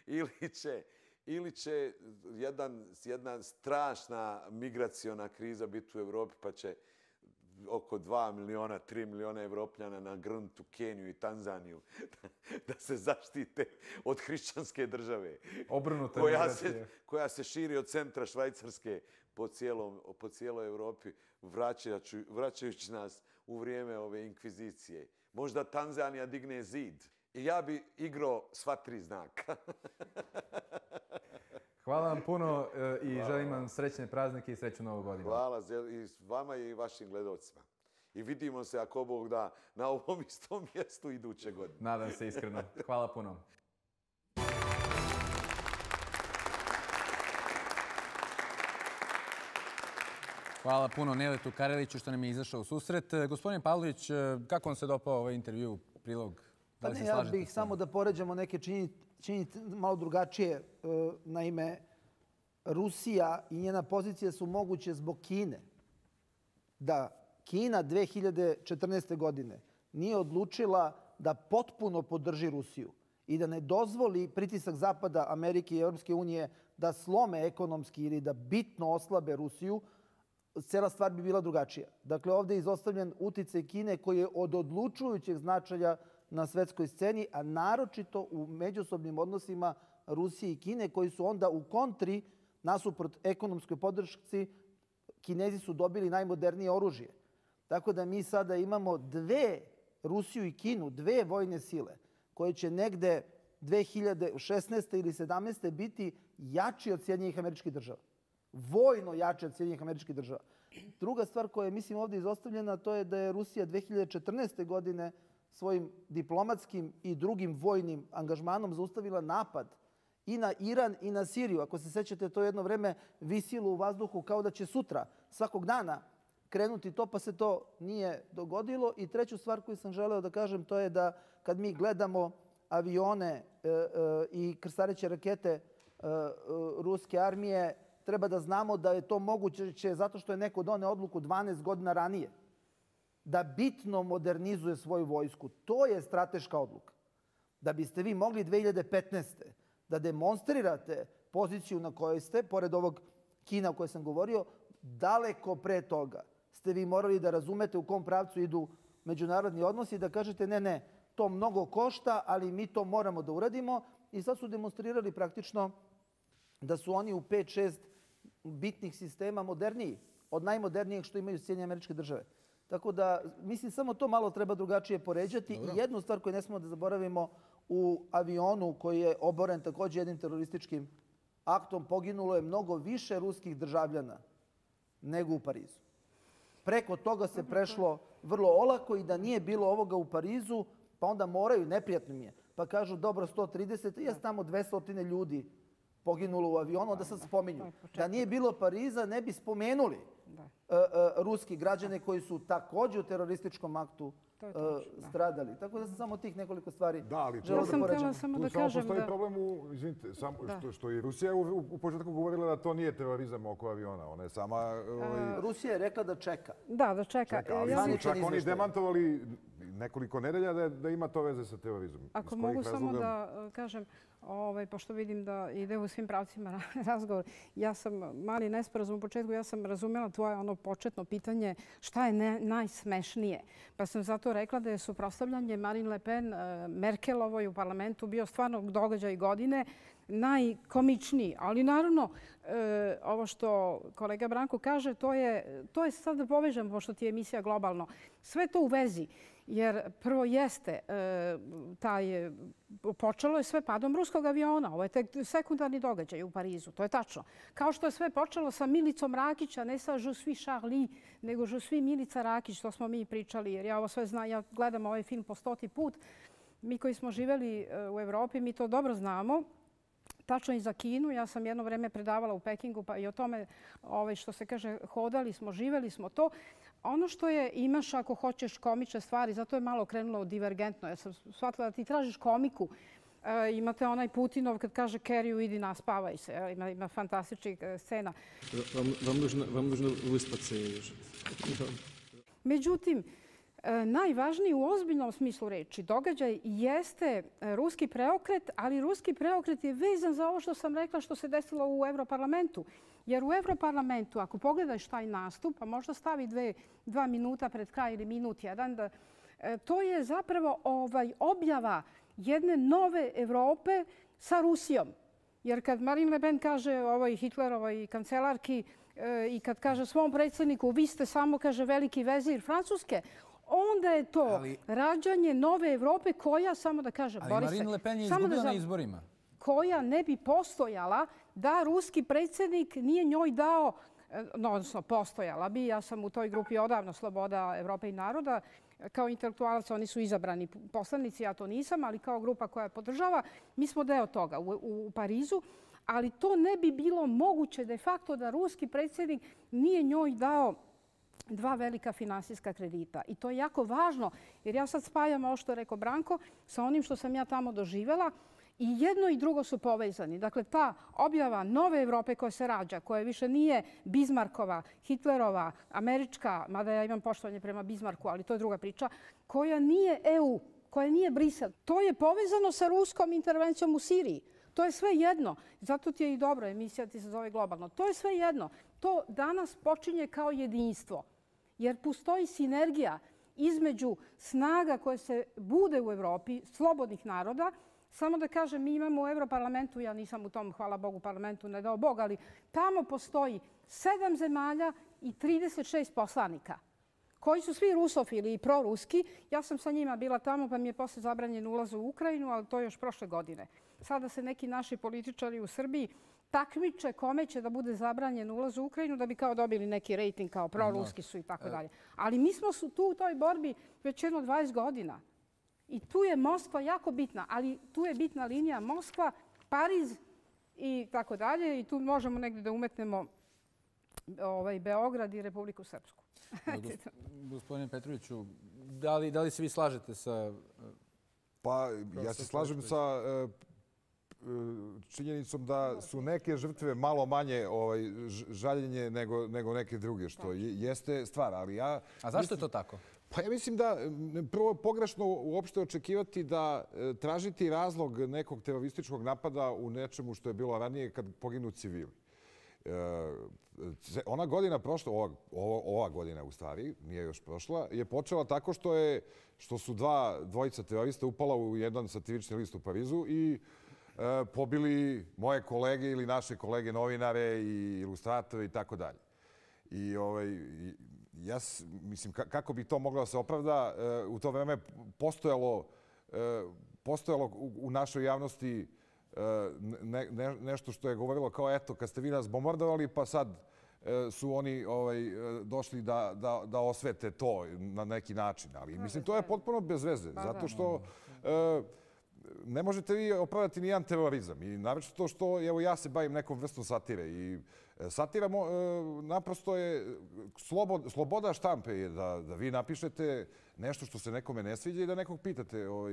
ili će... Ili će jedan, jedna strašna migraciona kriza biti u Evropi, pa će oko dva miliona, tri miliona Evropljana nagrnuti u Keniju i Tanzaniju da se zaštite od hrišćanske države. Obrnuta koja migracija. Se, koja se širi od centra Švajcarske po, cijelom, po cijeloj Evropi, vraćajući, vraćajući nas u vrijeme ove inkvizicije. Možda Tanzanija digne zid. I ja bi igrao sva tri znaka. Hvala vam puno i Hvala. Želim vam srećne praznike i sreću Novu godinu. Hvala i vama i vašim gledalcima. I vidimo se, ako Bog da, na ovom istom mjestu iduće godine. Nadam se iskreno. Hvala puno. Hvala puno Neletu Kareliću što nam je izašao u susret. Gospodine Pavlović, kako vam se dopao ovaj intervju, prilog? Da li se ja slažete bih s samo da poređamo neke činjenice malo drugačije. Naime, Rusija i njena pozicija su moguće zbog Kine. Da Kina dve hiljade četrnaeste. godine nije odlučila da potpuno podrži Rusiju i da ne dozvoli pritisak Zapada, Amerike i Europske unije da slome ekonomski ili da bitno oslabe Rusiju, cela stvar bi bila drugačija. Dakle, ovdje je izostavljen uticaj Kine koji je od odlučujućeg značaja na svetskoj sceni, a naročito u međusobnim odnosima Rusije i Kine, koji su onda u kontri nasuprot ekonomskoj podršci. Kinezi su dobili najmodernije oružje. Tako da mi sada imamo dve, Rusiju i Kinu, dve vojne sile koje će negde dve hiljade šesnaeste. ili sedamnaeste. biti jači od Sjedinjenih Američkih Država. Vojno jači od Sjedinjenih Američkih Država. Druga stvar koja je, mislim, ovdje izostavljena, to je da je Rusija dve hiljade četrnaeste. godine svojim diplomatskim i drugim vojnim angažmanom zaustavila napad i na Iran i na Siriju. Ako se sećate, to jedno vreme visilo u vazduhu kao da će sutra, svakog dana, krenuti to, pa se to nije dogodilo. I treću stvar koju sam želeo da kažem, to je da kad mi gledamo avione i krstareće rakete ruske armije, treba da znamo da je to moguće zato što je neko doneo odluku dvanaest godina ranije da bitno modernizuje svoju vojsku. To je strateška odluka. Da biste vi mogli dve hiljade petnaeste. da demonstrirate poziciju na kojoj ste, pored ovog Kina o kojoj sam govorio, daleko pre toga ste vi morali da razumete u kom pravcu idu međunarodni odnosi i da kažete ne, ne, to mnogo košta, ali mi to moramo da uradimo. I sad su demonstrirali praktično da su oni u pet šest bitnih sistema moderniji, od najmodernijeg što imaju Sjedinjene Američke Države. Tako da, mislim, samo to malo treba drugačije poređati. I jednu stvar koju ne smemo da zaboravimo, u avionu koji je oboren također jednim terorističkim aktom poginulo je mnogo više ruskih državljana nego u Parizu. Preko toga se prešlo vrlo olako i da nije bilo ovoga u Parizu, pa onda moraju, neprijatno mi je, pa kažu dobro sto trideset, jes tamo dvesta ljudi poginulo u avionu, onda sad spominju. Da nije bilo Pariza, ne bi spomenuli ruski građane koji su također u terorističkom aktu stradali. Tako da sam samo tih nekoliko stvari želeo da poređam. Tu samo postoji problem, izvinite, što i Rusija u početku govorila da to nije terorizam oko aviona. Ona je sama... Rusija je rekla da čeka. Da, da čeka. Ali su čak oni demantovali nekoliko nedelja da ima to veze sa terorizmom. Ako mogu samo da kažem, pošto vidim da ide u svim pravcima razgovor, ja sam mali nesporazum u početku, ja sam razumjela tvoje ono početno pitanje šta je najsmešnije. Pa sam zato rekla da je suprotstavljanje Marine Le Pen Merkelovoj u parlamentu bio stvarno događaj godine, najkomičniji. Ali naravno, ovo što kolega Branko kaže, to je, to je sad da povežem, pošto ti je emisija globalno, sve to u vezi. Jer prvo jeste, taj, počelo je sve padom ruskog aviona. Ovo je tek sekundarni događaj u Parizu, to je tačno. Kao što je sve počelo sa Milicom Rakić, a ne sa Je suis Charlie, nego Je suis Milica Rakić, to smo mi pričali, jer ja ovo sve znam, ja gledam ovaj film po stoti put. Mi koji smo živjeli u Evropi, mi to dobro znamo. Tačno i za Kinu. Ja sam jedno vreme predavala u Pekingu, pa i o tome što se kaže, hodali smo, živjeli smo to. Ono što je, imaš ako hoćeš komične stvari, zato je malo krenulo divergentno. Ja sam shvatila da ti tražiš komiku. Imate onaj Putinov kad kaže Keriju, idi naspavaj se. Ima fantastičnih scena. Vam nužno vyspati se. Međutim, najvažniji u ozbiljnom smislu reči događaj jeste ruski preokret, ali ruski preokret je vezan za ovo što sam rekla što se desilo u Evroparlamentu. Jer u Evroparlamentu, ako pogledaš taj nastup, a možda stavi dve, dva minuta pred kraj ili minut jedan, da, to je zapravo ovaj, objava jedne nove Evrope sa Rusijom. Jer kad Marine Le Pen kaže ovoj Hitlerovoj kancelarki i kad kaže svom predsjedniku vi ste samo, kaže, veliki vezir Francuske, onda je to ali, rađanje nove Evrope koja, samo da kaže, ali Borise, Marine Le Pen je izgubila na izborima. Koja ne bi postojala da ruski predsjednik nije njoj dao, no, odnosno postojala bi, ja sam u toj grupi odavno Sloboda Evrope i naroda, kao intelektualac, oni su izabrani poslanici, ja to nisam, ali kao grupa koja podržava, mi smo deo toga u, u, u Parizu. Ali to ne bi bilo moguće de facto da ruski predsjednik nije njoj dao dva velika finansijska kredita. I to je jako važno, jer ja sad spajam ovo što je rekao Branko sa onim što sam ja tamo doživjela. I jedno i drugo su povezani. Dakle, ta objava nove Evrope koja se rađa, koja više nije Bismarckova, Hitlerova, američka, mada ja imam poštovanje prema Bismarcku, ali to je druga priča, koja nije E U, koja nije Brisel. To je povezano sa ruskom intervencijom u Siriji. To je sve jedno. Zato ti je i dobro, emisija ti se zove Globalno. To je sve jedno. To danas počinje kao jedinstvo. Jer postoji sinergija između snaga koje se bude u Evropi, slobodnih naroda. Samo da kažem, mi imamo u Evroparlamentu, ja nisam u tom, hvala Bogu, parlamentu, ne dao Bog, ali tamo postoji sedam zemalja i trideset šest poslanika koji su svi rusofili i proruski. Ja sam sa njima bila tamo, pa mi je posle zabranjen ulaz u Ukrajinu, ali to je još prošle godine. Sada se neki naši političari u Srbiji takmiče kome će da bude zabranjen ulaz u Ukrajinu da bi kao dobili neki rejting kao proruski su i tako dalje. Ali mi smo su tu u toj borbi već jedno dvadeset godina. I tu je Moskva jako bitna, ali tu je bitna linija Moskva, Pariz i tako dalje. I tu možemo negdje da umetnemo ovaj, Beograd i Republiku Srpsku. Gospodine Petroviću, da li, da li se vi slažete sa... Pa ja se slažem sa uh, činjenicom da su neke žrtve malo manje ovaj, žaljenje nego, nego neke druge, što je, jeste stvar. Ali ja, A zašto mislim, je to tako? Pa ja mislim da prvo pogrešno uopšte očekivati da e, tražiti razlog nekog terorističkog napada u nečemu što je bilo ranije kad poginu civili. E, ona godina prošla, ova, ova godina u stvari, nije još prošla, je počela tako što, je, što su dva dvojica terorista upala u jedan satirični list u Parizu i e, pobili moje kolege ili naše kolege novinare i ilustratore i tako dalje. I ovaj... I, ja mislim, kako bi to moglo da se opravda, u to vreme postojalo, postojalo u našoj javnosti ne, ne, nešto što je govorilo kao eto, kad ste vi nas bombardovali, pa sad su oni ovaj, došli da, da, da osvete to na neki način. Ali mislim, to je potpuno bez veze, zato što ne možete vi opravdati nijedan terorizam. I naročito to što, evo ja se bavim nekom vrstom satire i satira naprosto je sloboda štampe je da, da vi napišete nešto što se nekome ne sviđa i da nekog pitate ovaj,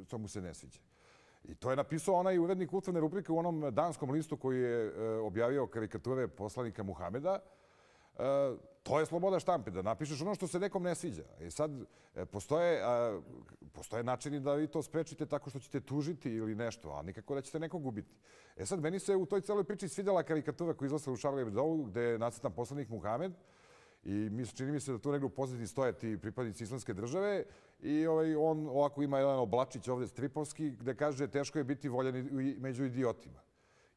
što mu se ne sviđa. I to je napisao onaj urednik kulturne rubrike u onom danskom listu koji je objavio karikature poslanika Muhameda. To je sloboda štampe, da napišeš ono što se nekom ne sviđa. I sad postoje, postoje načini da vi to sprečite tako što ćete tužiti ili nešto, a nikako da ćete nekog ubiti. E sad, meni se u toj celoj priči svidjela karikatura koja izlazila u Charlie Hebdovu, gde je nacrtan poslanik Muhamed i čini mi se da tu negdje u pozadini stoje ti pripadnici Islamske države i ovaj, on ovako ima jedan oblačić ovdje stripovski gde kaže teško je biti voljen među idiotima.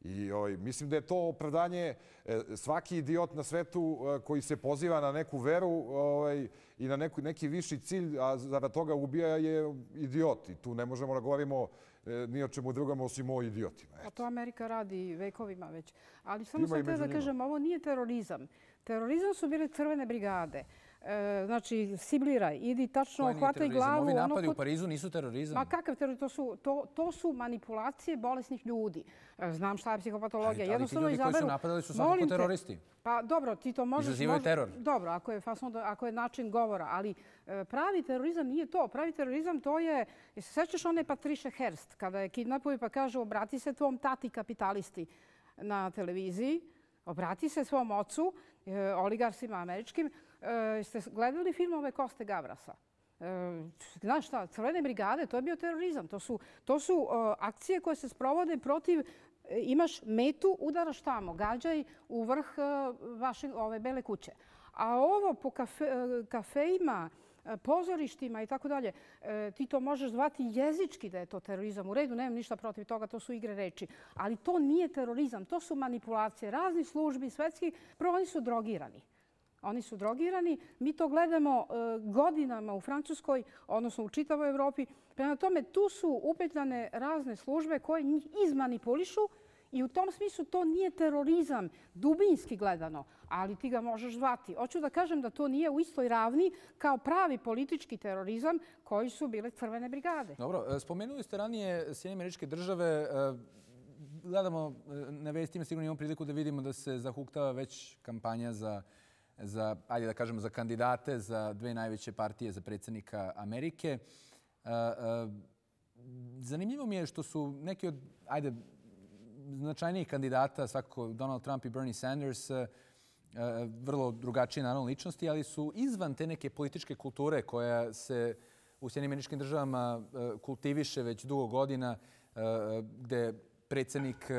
I ovaj, mislim da je to opravdanje svaki idiot na svetu koji se poziva na neku veru ovaj, i na neku, neki viši cilj, a zarad toga ubija je idiot. I tu ne možemo da govorimo ni o čemu drugom osim o idiotima. A to Amerika radi vekovima već. Ali samo sam te da kažem, ovo nije terorizam. Terorizam su bile crvene brigade. Znači, sibliraj, idi tačno, hvataj glavu. Ovi napadi u Parizu nisu terorizam. Ma kakav terorizam? To su, to, to su manipulacije bolesnih ljudi. Znam šta je psihopatologija. Ali, ali ti ljudi koji su napadali su svakako teroristi. Pa dobro, ti to možeš... Izazivaju teror. Dobro, ako je, fason, ako je način govora. Ali pravi terorizam nije to. Pravi terorizam to je... Se sećaš one Patricia Hearst, kada je kidnapuju pa kaže obrati se tvom tati kapitalisti na televiziji, obrati se svom ocu, oligarsima američkim. Ste gledali filmove Koste Gavrasa? Znaš šta, crvene brigade, to je bio terorizam. To su, to su akcije koje se sprovode protiv, imaš metu, udaraš tamo, gađaj u vrh vaše ove bele kuće. A ovo po kafe, kafejima, pozorištima i tako dalje, ti to možeš zvati jezički da je to terorizam. U redu, nemam ništa protiv toga, to su igre reči. Ali to nije terorizam, to su manipulacije raznih službi, svetskih. Prvo, oni su drogirani. Oni su drogirani. Mi to gledamo godinama u Francuskoj, odnosno u čitavoj Evropi. Prema tome, tu su upetljane razne službe koje njih izmanipulišu I u tom smislu to nije terorizam, dubinski gledano, ali ti ga možeš zvati. Hoću da kažem da to nije u istoj ravni kao pravi politički terorizam koji su bile crvene brigade. Dobro, spomenuli ste ranije Sjedinjene Američke Države. Gledamo na vestima, sigurno imamo priliku da vidimo da se zahuktava već kampanja za, za, ajde da kažemo, za kandidate za dve najveće partije za predsjednika Amerike. Zanimljivo mi je što su neki od, ajde, značajnijih kandidata, svakako Donald Trump i Bernie Sanders, vrlo drugačije naravno ličnosti, ali su izvan te neke političke kulture koja se u Sjedinjenim Američkim Državama kultiviše već dugo godina, gde predsjednik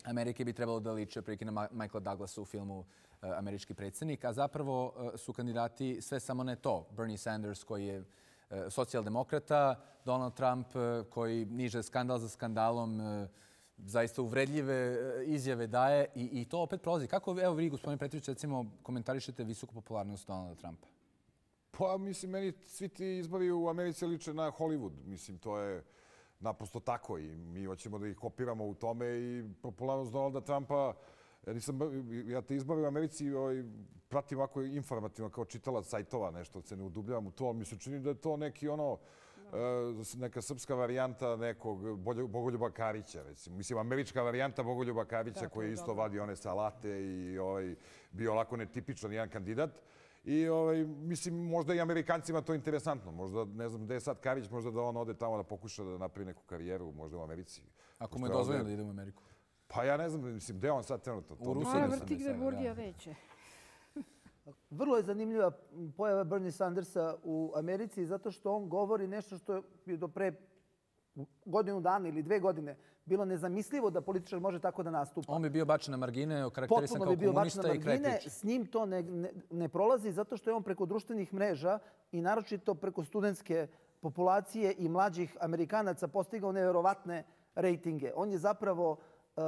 Amerike bi trebalo da liči otprilike na Michaela Douglasa u filmu Američki predsjednik, a zapravo su kandidati sve samo ne to. Bernie Sanders koji je socijaldemokrata, Donald Trump koji niže skandal za skandalom, zaista uvredljive izjave daje i, i to opet prolazi. Kako, evo vi, gospodine Petrović, recimo, komentarišete visoku popularnost Donalda Trumpa? Pa, mislim, meni svi ti izbori u Americi liče na Hollywood. Mislim, to je naprosto tako i mi hoćemo da ih kopiramo u tome i popularnost Donalda Trumpa. Ja, nisam, ja te izbori u Americi ovaj, pratim ovako informativno kao čitalac sajtova, nešto se ne udubljavam u to, ali mi se čini da je to neki ono, neka srpska varijanta nekog Bogoljuba Karića, recimo. Mislim, američka varijanta Bogoljuba Karića koji isto vadi one salate i ovaj, bio onako netipičan jedan kandidat. I ovaj, mislim, možda i Amerikancima to interesantno. Možda, ne znam, gde je sad Karić, možda da on ode tamo da pokuša da napravi neku karijeru, možda u Americi. Ako mu je dozvoljeno da ide u Ameriku? Pa ja ne znam, mislim, gde on sad trenutno? U Rusiji. Vrti gde Burgija neće. Vrlo je zanimljiva pojava Bernie Sandersa u Americi zato što on govori nešto što je do pre godinu dana ili dve godine bilo nezamislivo da političar može tako da nastupa. On bi bio bačen na margine, okarakterisan kao komunista i kraj priče. S njim to ne, ne, ne prolazi zato što je on preko društvenih mreža i naročito preko studentske populacije i mlađih Amerikanaca postigao neverovatne rejtinge. On je zapravo uh,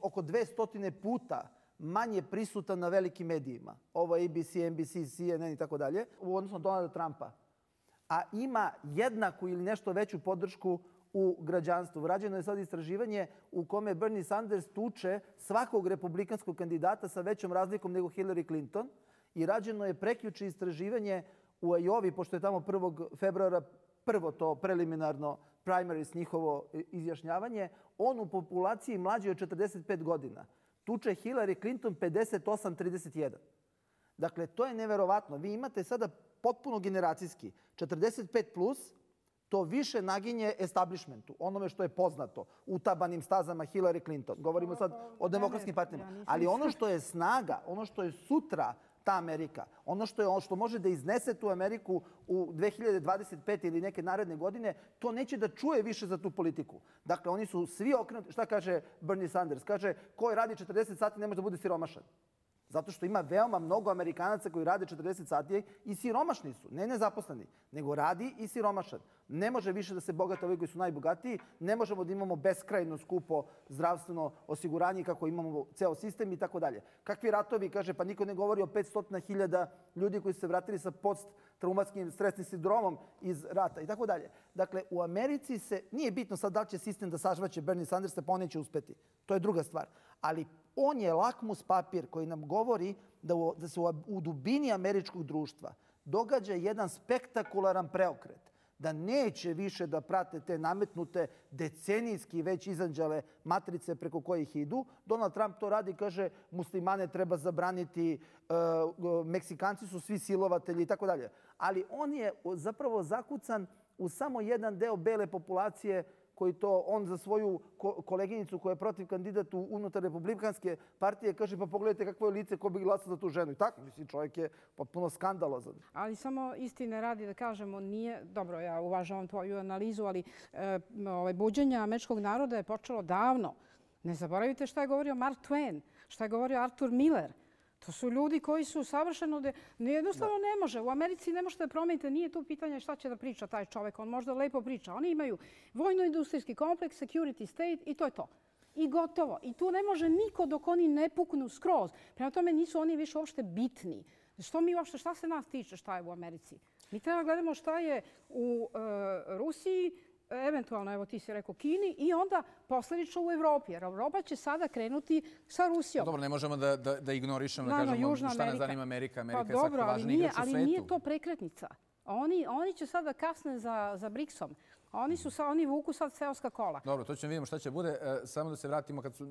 oko dvesta puta manje prisutan na velikim medijima. Ovo je A B C, N B C, C N N i tako dalje, u odnosu na Donalda Trumpa. A ima jednaku ili nešto veću podršku u građanstvu. Rađeno je sad istraživanje u kome Bernie Sanders tuče svakog republikanskog kandidata sa većom razlikom nego Hillary Clinton. I rađeno je prekjuče istraživanje u Iowi, pošto je tamo prvog februara prvo to preliminarno primaries, njihovo izjašnjavanje. On u populaciji mlađi od četrdeset pet godina tuče Hillary Clinton pedeset osam trideset jedan. Dakle, to je neverovatno. Vi imate sada potpuno generacijski četrdeset pet plus, to više naginje establishmentu, onome što je poznato, utabanim stazama Hillary Clinton. Govorimo sad o demokratskim partijama. Ali ono što je snaga, ono što je sutra ta Amerika, ono što je ono što može da iznese tu Ameriku u dve hiljade dvadeset pete ili neke naredne godine, to neće da čuje više za tu politiku. Dakle, oni su svi okrenuti. Šta kaže Bernie Sanders? Kaže, ko radi četrdeset sati ne može da bude siromašan. Zato što ima veoma mnogo Amerikanaca koji rade četrdeset sati i siromašni su. Ne nezaposleni, nego radi i siromašan. Ne može više da se bogate ovi koji su najbogatiji. Ne možemo da imamo beskrajno skupo zdravstveno osiguranje kako imamo ceo sistem i tako dalje. Kakvi ratovi, kaže, pa niko ne govori o petsto hiljada ljudi koji su se vratili sa posttraumatskim stresnim sindromom iz rata i tako dalje. Dakle, u Americi se, nije bitno sad da li će sistem da sažvaće Bernie Sandersa, pa on neće uspeti. To je druga stvar. Ali on je lakmus papir koji nam govori da, u, da se u, u dubini američkog društva događa jedan spektakularan preokret. Da neće više da prate te nametnute decenijski već izanđale matrice preko kojih idu. Donald Trump to radi, kaže, muslimane treba zabraniti, e, Meksikanci su svi silovatelji i tako dalje. Ali on je zapravo zakucan u samo jedan deo bele populacije koji to on za svoju koleginicu koja je protiv kandidatu unutar republikanske partije kaže pa pogledajte kakvo je lice ko bi glasao za tu ženu. I tako, mislim, čovjek je potpuno skandalozan. Ali samo istine radi da kažemo, nije, dobro, ja uvažavam tvoju analizu, ali e, ove, buđenje američkog naroda je počelo davno. Ne zaboravite šta je govorio Mark Twain, šta je govorio Arthur Miller. To su ljudi koji su savršeno... De... Jednostavno ne može. U Americi ne možete da promenite. Nije tu pitanje šta će da priča taj čovek. On možda lepo priča. Oni imaju vojno-industrijski kompleks, security state i to je to. I gotovo. I tu ne može niko dok oni ne puknu skroz. Prema tome nisu oni više uopšte bitni. Što mi uopšte, šta se nas tiče šta je u Americi? Mi treba gledamo šta je u uh, Rusiji, eventualno, evo ti si rekao, Kini i onda posledično u Evropi. Jer Evropa će sada krenuti sa Rusijom. Dobro, ne možemo da, da, da ignorišemo, da Naravno, kažemo Južna šta nas Amerika. zanima Amerika. Amerika Pa je svakako dobro, ali važni nije, igrač u ali svetu. nije to prekretnica. Oni, oni će sada kasne za, za briksom. Oni su sa, oni vuku sad seoska kola. Dobro, to ćemo vidimo šta će bude. E, samo da se vratimo kad su,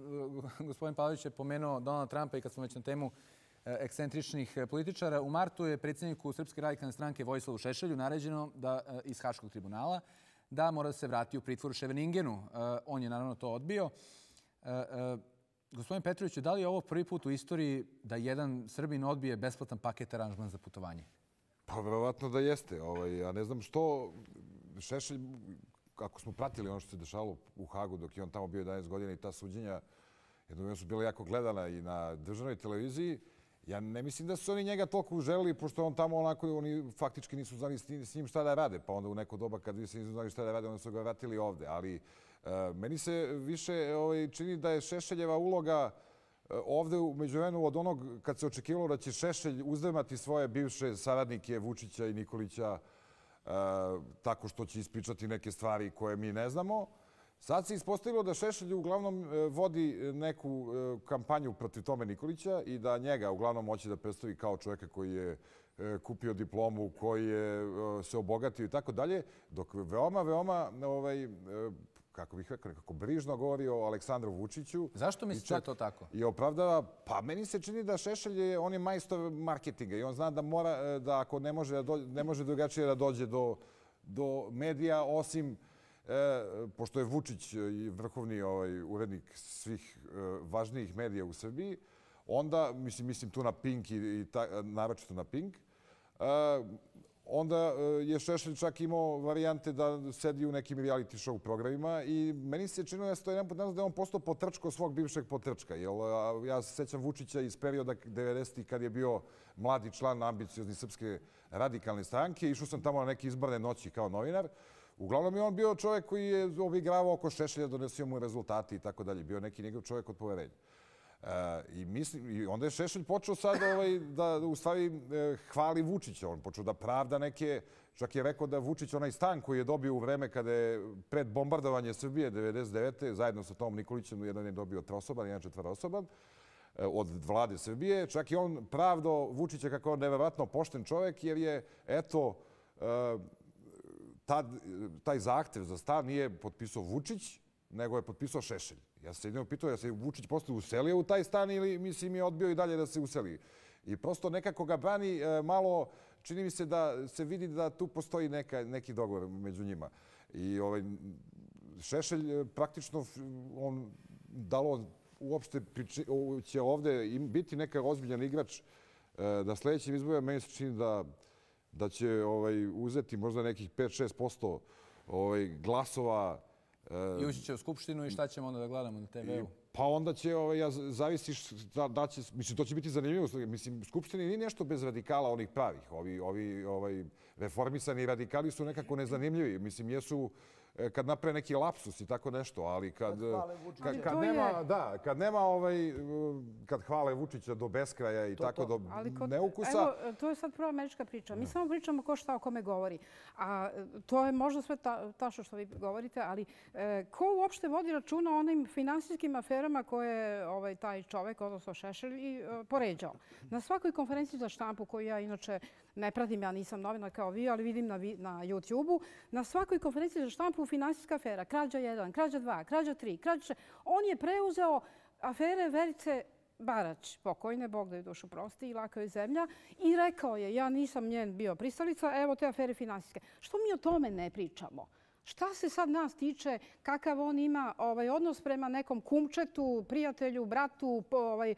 e, gospodin Pavlović je pomenuo Donalda Trumpa i kad smo već na temu e, ekscentričnih političara. U martu je predsjedniku Srpske radikalne stranke Vojislavu Šešelju naređeno da e, iz Haškog tribunala da mora da se vrati u pritvor u Ševeningenu. E, on je naravno to odbio. E, e, gospodin Petroviću, da li je ovo prvi put u istoriji da jedan Srbin odbije besplatan paket aranžman za putovanje? Pa verovatno da jeste. Ovaj, ja ne znam što Šešelj, ako smo pratili ono što se dešavalo u Hagu dok je on tamo bio jedanaest godina i ta suđenja, jednom su bila jako gledana i na državnoj televiziji. Ja ne mislim da su oni njega toliko uželili, pošto on tamo onako, oni faktički nisu znali s njim šta da rade. Pa onda u neko doba kad vi se nisu znali šta da rade, onda su ga vratili ovde. Ali uh, meni se više ovaj, čini da je Šešeljeva uloga ovde u međuvremenu od onog kad se očekivalo da će Šešelj uzdrmati svoje bivše saradnike Vučića i Nikolića uh, tako što će ispričati neke stvari koje mi ne znamo. Sad se ispostavilo da Šešelj uglavnom vodi neku kampanju protiv Tome Nikolića i da njega uglavnom hoće da predstavi kao čovjeka koji je kupio diplomu, koji je se obogatio i tako dalje, dok veoma, veoma, ovaj, kako bih rekao, nekako brižno govori o Aleksandru Vučiću. Zašto mislite da je to tako? I opravdava, pa meni se čini da Šešelj je, on je majstor marketinga i on zna da mora, da ako ne može, da dođe, ne može drugačije da dođe do, do medija, osim E, pošto je Vučić i vrhovni ovaj, urednik svih e, važnijih medija u Srbiji, onda, mislim, mislim tu na Pink i, i ta, naročito na Pink, e, onda je Šešelj čak imao varijante da sedi u nekim reality show programima i meni se činilo da, to jedan da je on postao potrčko svog bivšeg potrčka. Jer, ja se sećam Vučića iz perioda devedesetih kad je bio mladi član ambiciozni Srpske radikalne stranke. Išao sam tamo na neke izborne noći kao novinar. Uglavnom je on bio čovjek koji je obigravao oko Šešelja, donosio mu rezultati i tako dalje. Bio neki njegov čovjek od poverenja. E, i, mislim, I onda je Šešelj počeo sad ovaj, da u stvari e, hvali Vučića. On počeo da pravda neke, čak je rekao da Vučić onaj stan koji je dobio u vreme kada je pred bombardovanje Srbije devedeset devete zajedno sa Tomom Nikolićem, jedan je dobio trosoban, jedan četvorosoban, e, od vlade Srbije. Čak i on pravdo Vučića kako je on nevjerovatno pošten čovjek jer je, eto, e, Tad, taj zahtev za stan nije potpisao Vučić, nego je potpisao Šešelj. Ja se jedino pitao da se Vučić posle uselio u taj stan ili mislim je odbio i dalje da se useli. I prosto nekako ga brani malo, čini mi se da se vidi da tu postoji neka, neki dogovor među njima. I ovaj, Šešelj praktično, on dalo uopšte priči, će ovde biti neka ozbiljan igrač da sljedećim izborima meni se čini da da će ovaj, uzeti možda nekih pet do šest posto ovaj, glasova. I ući će u Skupštinu i šta ćemo onda da gledamo na te veu? Pa onda će, ovaj, ja, zavisiš da, da će, mislim, to će biti zanimljivo. Mislim, Skupštini nije nešto bez radikala onih pravih. Ovi, ovi ovaj, reformisani radikali su nekako nezanimljivi. Mislim, jesu kad naprave neki lapsus i tako nešto, ali kad, kad, kad, nema, da, kad nema ovaj, kad hvale Vučića do beskraja i to, tako to. do kod, neukusa... Evo, to je sad prva američka priča. Mi ne. samo pričamo ko šta o kome govori. A to je možda sve ta, tačno što vi govorite, ali e, ko uopšte vodi računa o onim finansijskim aferama koje ovaj, taj čovek, odnosno Šešelj, i e, poređao. Na svakoj konferenciji za štampu, koju ja inače ne pratim, ja nisam novinar kao vi, ali vidim na, na YouTube-u, na svakoj konferenciji za štampu finansijska afera, krađa jedan, krađa dva, krađa tri, krađa šest. On je preuzeo afere Verice Barać, pokojne, Bog da je dušu prosti i laka je zemlja, i rekao je, ja nisam njen bio pristalica, evo te afere finansijske. Što mi o tome ne pričamo? Šta se sad nas tiče, kakav on ima ovaj, odnos prema nekom kumčetu, prijatelju, bratu, ovaj,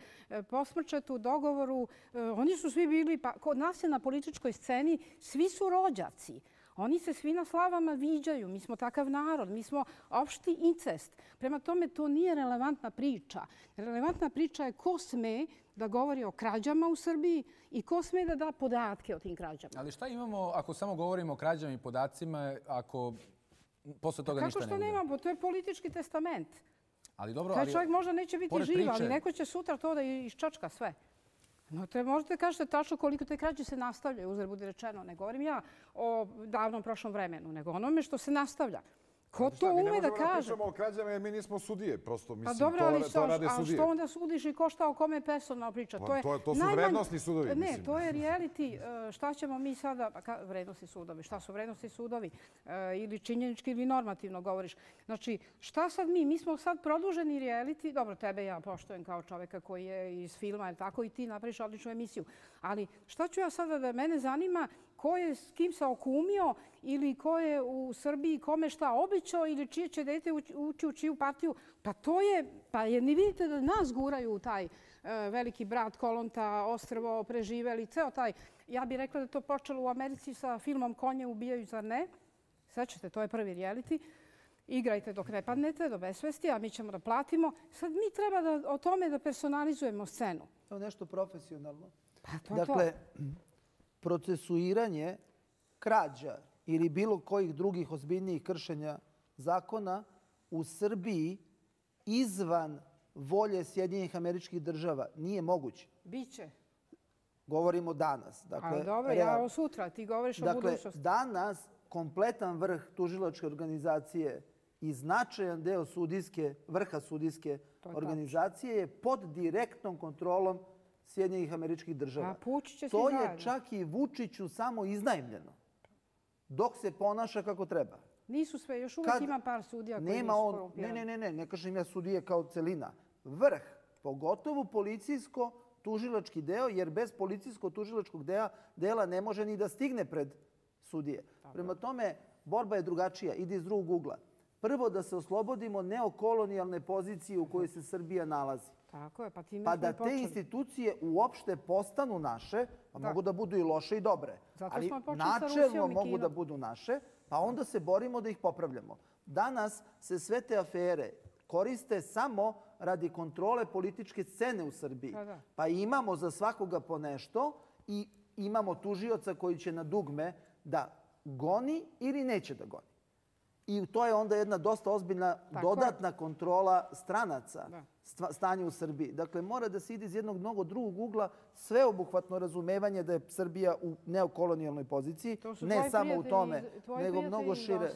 posmrčetu, dogovoru? Oni su svi bili, pa kod nas je na političkoj sceni, svi su rođaci. Oni se svi na slavama viđaju. Mi smo takav narod. Mi smo opšti incest. Prema tome, to nije relevantna priča. Relevantna priča je ko sme da govori o krađama u Srbiji i ko sme da da podatke o tim krađama. Ali šta imamo ako samo govorimo o krađama i podacima, ako posle toga ništa ne bude? Kako što nemamo? To je politički testament. Ali dobro, taj ali, čovjek možda neće biti živ, ali neko će sutra to da iščačka sve. No, te možete kažete tačno koliko te krađe se nastavljaju, uzred bude rečeno. Ne govorim ja o davnom prošlom vremenu, nego onome što se nastavlja. Ko to ume da kaže? Mi ne možemo da pričamo o krađama jer mi nismo sudije. Prosto, mislim, dobro, to, ali to što, rade a sudije. što onda sudiš i ko šta o kome personalna priča? Pa, to, je to, to su najmanj... vrednostni sudovi. Ne, mislim. to je reality. Šta ćemo mi sada... Pa, ka, vrednostni sudovi. Šta su vrednostni sudovi? E, ili činjenički ili normativno govoriš. Znači, šta sad mi? Mi smo sad produženi reality. Dobro, tebe ja poštujem kao čoveka koji je iz filma, ili tako, i ti napraviš odličnu emisiju. Ali šta ću ja sada da mene zanima ko je s kim se okumio ili ko je u Srbiji kome šta obećao ili čije će dete ući u čiju partiju. Pa to je, pa jer ni vidite da nas guraju u taj uh, veliki brat, Kolonta, Ostrvo, Preživeli, ceo taj. Ja bih rekla da to počelo u Americi sa filmom Konje ubijaju, zar ne? Sećate, to je prvi reality. Igrajte dok ne padnete do besvesti, a mi ćemo da platimo. Sad mi treba da o tome da personalizujemo scenu. To je nešto profesionalno. Pa to dakle, to. procesuiranje krađa ili bilo kojih drugih ozbiljnijih kršenja zakona u Srbiji izvan volje Sjedinjenih Američkih Država nije moguće. Biće. Govorimo danas. Dakle, ali dobro, real... ja o sutra, ti govoriš o dakle, budućnosti. Danas kompletan vrh tužilačke organizacije i značajan deo sudijske, vrha sudijske organizacije je pod direktnom kontrolom Sjedinjenih Američkih Država. To je čak i Vučiću samo iznajmljeno, dok se ponaša kako treba. Nisu sve, još uvijek ima par sudija koji nisu korumpirani. Ne, ne, ne, ne kažem ja sudije kao celina. Vrh, pogotovo policijsko-tužilački deo, jer bez policijsko-tužilačkog dela ne može ni da stigne pred sudije. Prema tome, borba je drugačija, ide iz drugog ugla. Prvo da se oslobodimo neokolonijalne pozicije u kojoj se Srbija nalazi. Tako je, pa time pa da te institucije uopšte postanu naše, pa mogu da budu i loše i dobre. Ali načelno mogu da budu naše, pa onda se borimo da ih popravljamo. Danas se sve te afere koriste samo radi kontrole političke scene u Srbiji. Pa imamo za svakoga po nešto i imamo tužioca koji će na dugme da goni ili neće da goni. I to je onda jedna dosta ozbiljna dodatna kontrola stranaca stanja u Srbiji. Dakle, mora da se ide iz jednog mnogo drugog ugla sveobuhvatno razumevanje da je Srbija u neokolonijalnoj poziciji. Ne samo u tome, nego mnogo šire.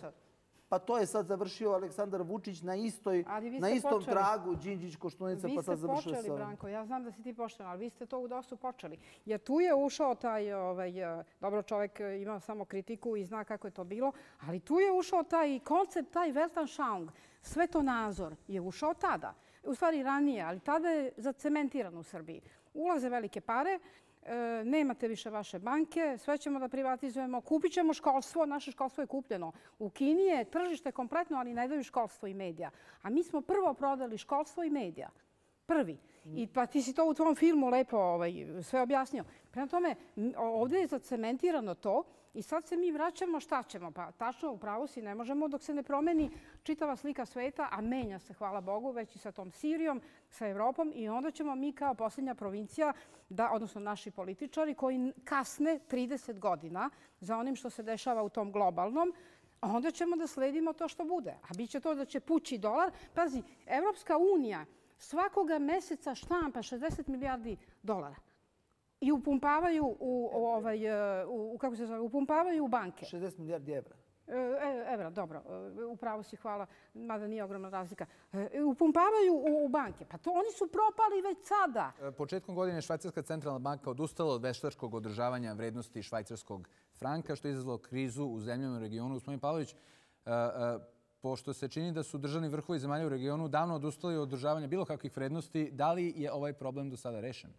Pa to je sad završio Aleksandar Vučić na istom tragu, Đinđić, Koštunica, pa sad završio se. Vi ste počeli, Branko, ja znam da si ti pošten, ali vi ste to u dosta počeli. Jer tu je ušao taj, dobro, čovjek ima samo kritiku i zna kako je to bilo, ali tu je ušao taj koncept, taj Weltanschauung, svetonazor je ušao tada. U stvari ranije, ali tada je zacementiran u Srbiji. Ulaze velike pare, nemate više vaše banke, sve ćemo da privatizujemo, kupit ćemo školstvo, naše školstvo je kupljeno. U Kini je tržište kompletno, ali ne daju školstvo i medija. A mi smo prvo prodali školstvo i medija. Prvi. I pa ti si to u tvom filmu lepo sve objasnio. Prema tome, ovdje je zacementirano to i sad se mi vraćamo, šta ćemo? Pa tačno, u pravu si, ne možemo dok se ne promeni čitava slika sveta, a menja se, hvala Bogu, već i sa tom Sirijom, sa Evropom i onda ćemo mi kao posljednja provincija, odnosno naši političari koji kasne trideset godina za onim što se dešava u tom globalnom, onda ćemo da sledimo to što bude. A bit će to da će pući dolar. Pazi, Evropska unija svakoga meseca štampa šezdeset milijardi dolara. I upumpavaju u, ovaj, u, kako se zove, upumpavaju u banke. šezdeset milijardi evra. E, evra, dobro. Upravo si, hvala, mada nije ogromna razlika. E, upumpavaju u, u banke. Pa to oni su propali već sada. Početkom godine Švajcarska centralna banka odustala od veštačkog održavanja vrednosti švajcarskog franka, što je izazvalo krizu u zemljama u regionu. Gospodin Pavlović, a, a, pošto se čini da su državni vrhovi zemalja u regionu davno odustali od održavanja bilo kakvih vrednosti, da li je ovaj problem do sada rešen?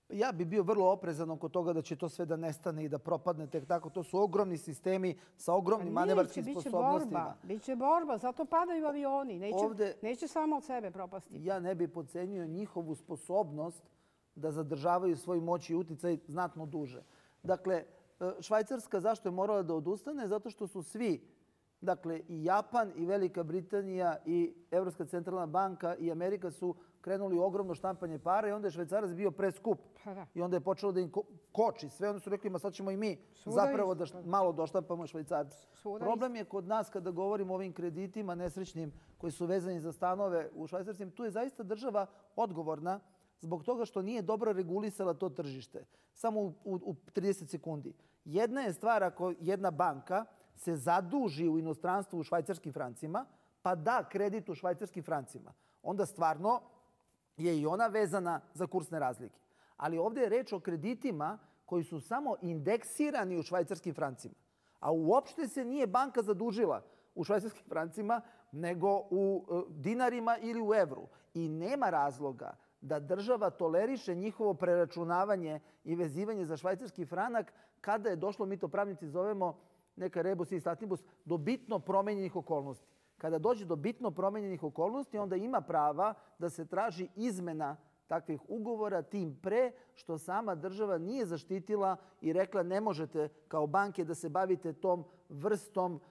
Ja bi bio vrlo oprezan oko toga da će to sve da nestane i da propadne tek tako. To su ogromni sistemi sa ogromnim manevarskim sposobnostima. Biće borba, zato padaju avioni. Neće, Ovde, neće samo od sebe propasti. Ja ne bi podcenio njihovu sposobnost da zadržavaju svoj moć i uticaj znatno duže. Dakle, Švajcarska zašto je morala da odustane? Zato što su svi, dakle i Japan i Velika Britanija i Evropska centralna banka i Amerika su krenuli u ogromno štampanje para i onda je Švajcarac bio preskup. I onda je počelo da im koči sve. Onda su rekli, ma sad ćemo i mi zapravo da malo doštampamo Švajcarcu. Problem je kod nas kada govorimo o ovim kreditima nesrećnim koji su vezani za stanove u Švajcarskim. Tu je zaista država odgovorna zbog toga što nije dobro regulisala to tržište. Samo u, u, u trideset sekundi. Jedna je stvar ako jedna banka se zaduži u inostranstvu u švajcarskim francima, pa da kredit u švajcarskim francima, onda stvarno je i ona vezana za kursne razlike. Ali ovdje je reč o kreditima koji su samo indeksirani u švajcarskim francima. A uopšte se nije banka zadužila u švajcarskim francima, nego u dinarima ili u evru. I nema razloga da država toleriše njihovo preračunavanje i vezivanje za švajcarski franak kada je došlo, mi to pravnici zovemo, neka rebus i statibus, do bitno promenjenih okolnosti. Kada dođe do bitno promenjenih okolnosti, onda ima prava da se traži izmena takvih ugovora, tim pre što sama država nije zaštitila i rekla ne možete kao banke da se bavite tom vrstom,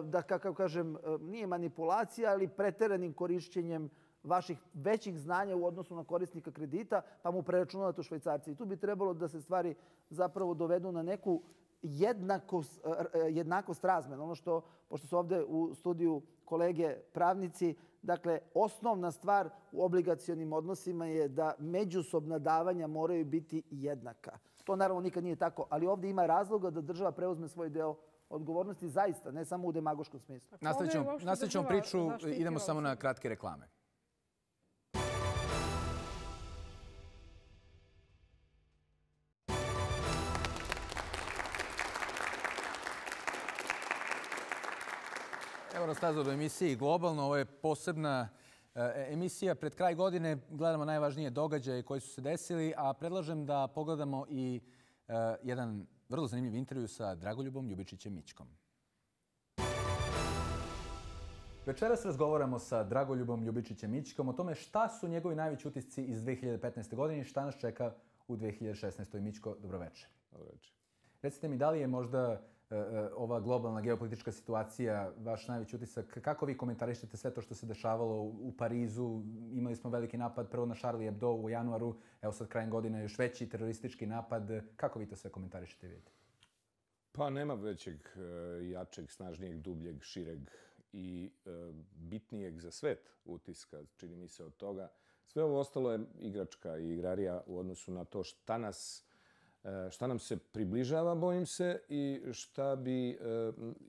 da kako kažem, nije manipulacija, ali preteranim korišćenjem vaših većih znanja u odnosu na korisnika kredita, pa mu preračunavate u švajcarci. I tu bi trebalo da se stvari zapravo dovedu na neku jednakost, jednakost razmena. Ono što, pošto su ovdje u studiju kolege pravnici, dakle, osnovna stvar u obligacionim odnosima je da međusobna davanja moraju biti jednaka. To naravno nikad nije tako, ali ovdje ima razloga da država preuzme svoj deo odgovornosti zaista, ne samo u demagoškom smislu. Nastavit ćemo priču, idemo samo na kratke reklame. Evo nas nazad u emisiji Globalno. Ovo je posebna emisija. Pred kraj godine gledamo najvažnije događaje koji su se desili, a predlažem da pogledamo i jedan vrlo zanimljiv intervju sa Dragoljubom Ljubičićem Mićkom. Večeras razgovaramo sa Dragoljubom Ljubičićem Mićkom o tome šta su njegovi najveći utisci iz dve hiljade petnaeste. godine i šta nas čeka u dve hiljade šesnaestoj. Mićko, dobroveče. Dobroveče. Recite mi, da li je možda ova globalna geopolitička situacija vaš najveći utisak? Kako vi komentarišete sve to što se dešavalo u Parizu? Imali smo veliki napad prvo na Charlie Hebdo u januaru, evo sad krajem godine još veći teroristički napad. Kako vi to sve komentarišete i vidite? Pa nema većeg, jačeg, snažnijeg, dubljeg, šireg i bitnijeg za svet utiska, čini mi se, od toga. Sve ovo ostalo je igračka i igrarija u odnosu na to šta nas šta nam se približava, bojim se, i šta bi,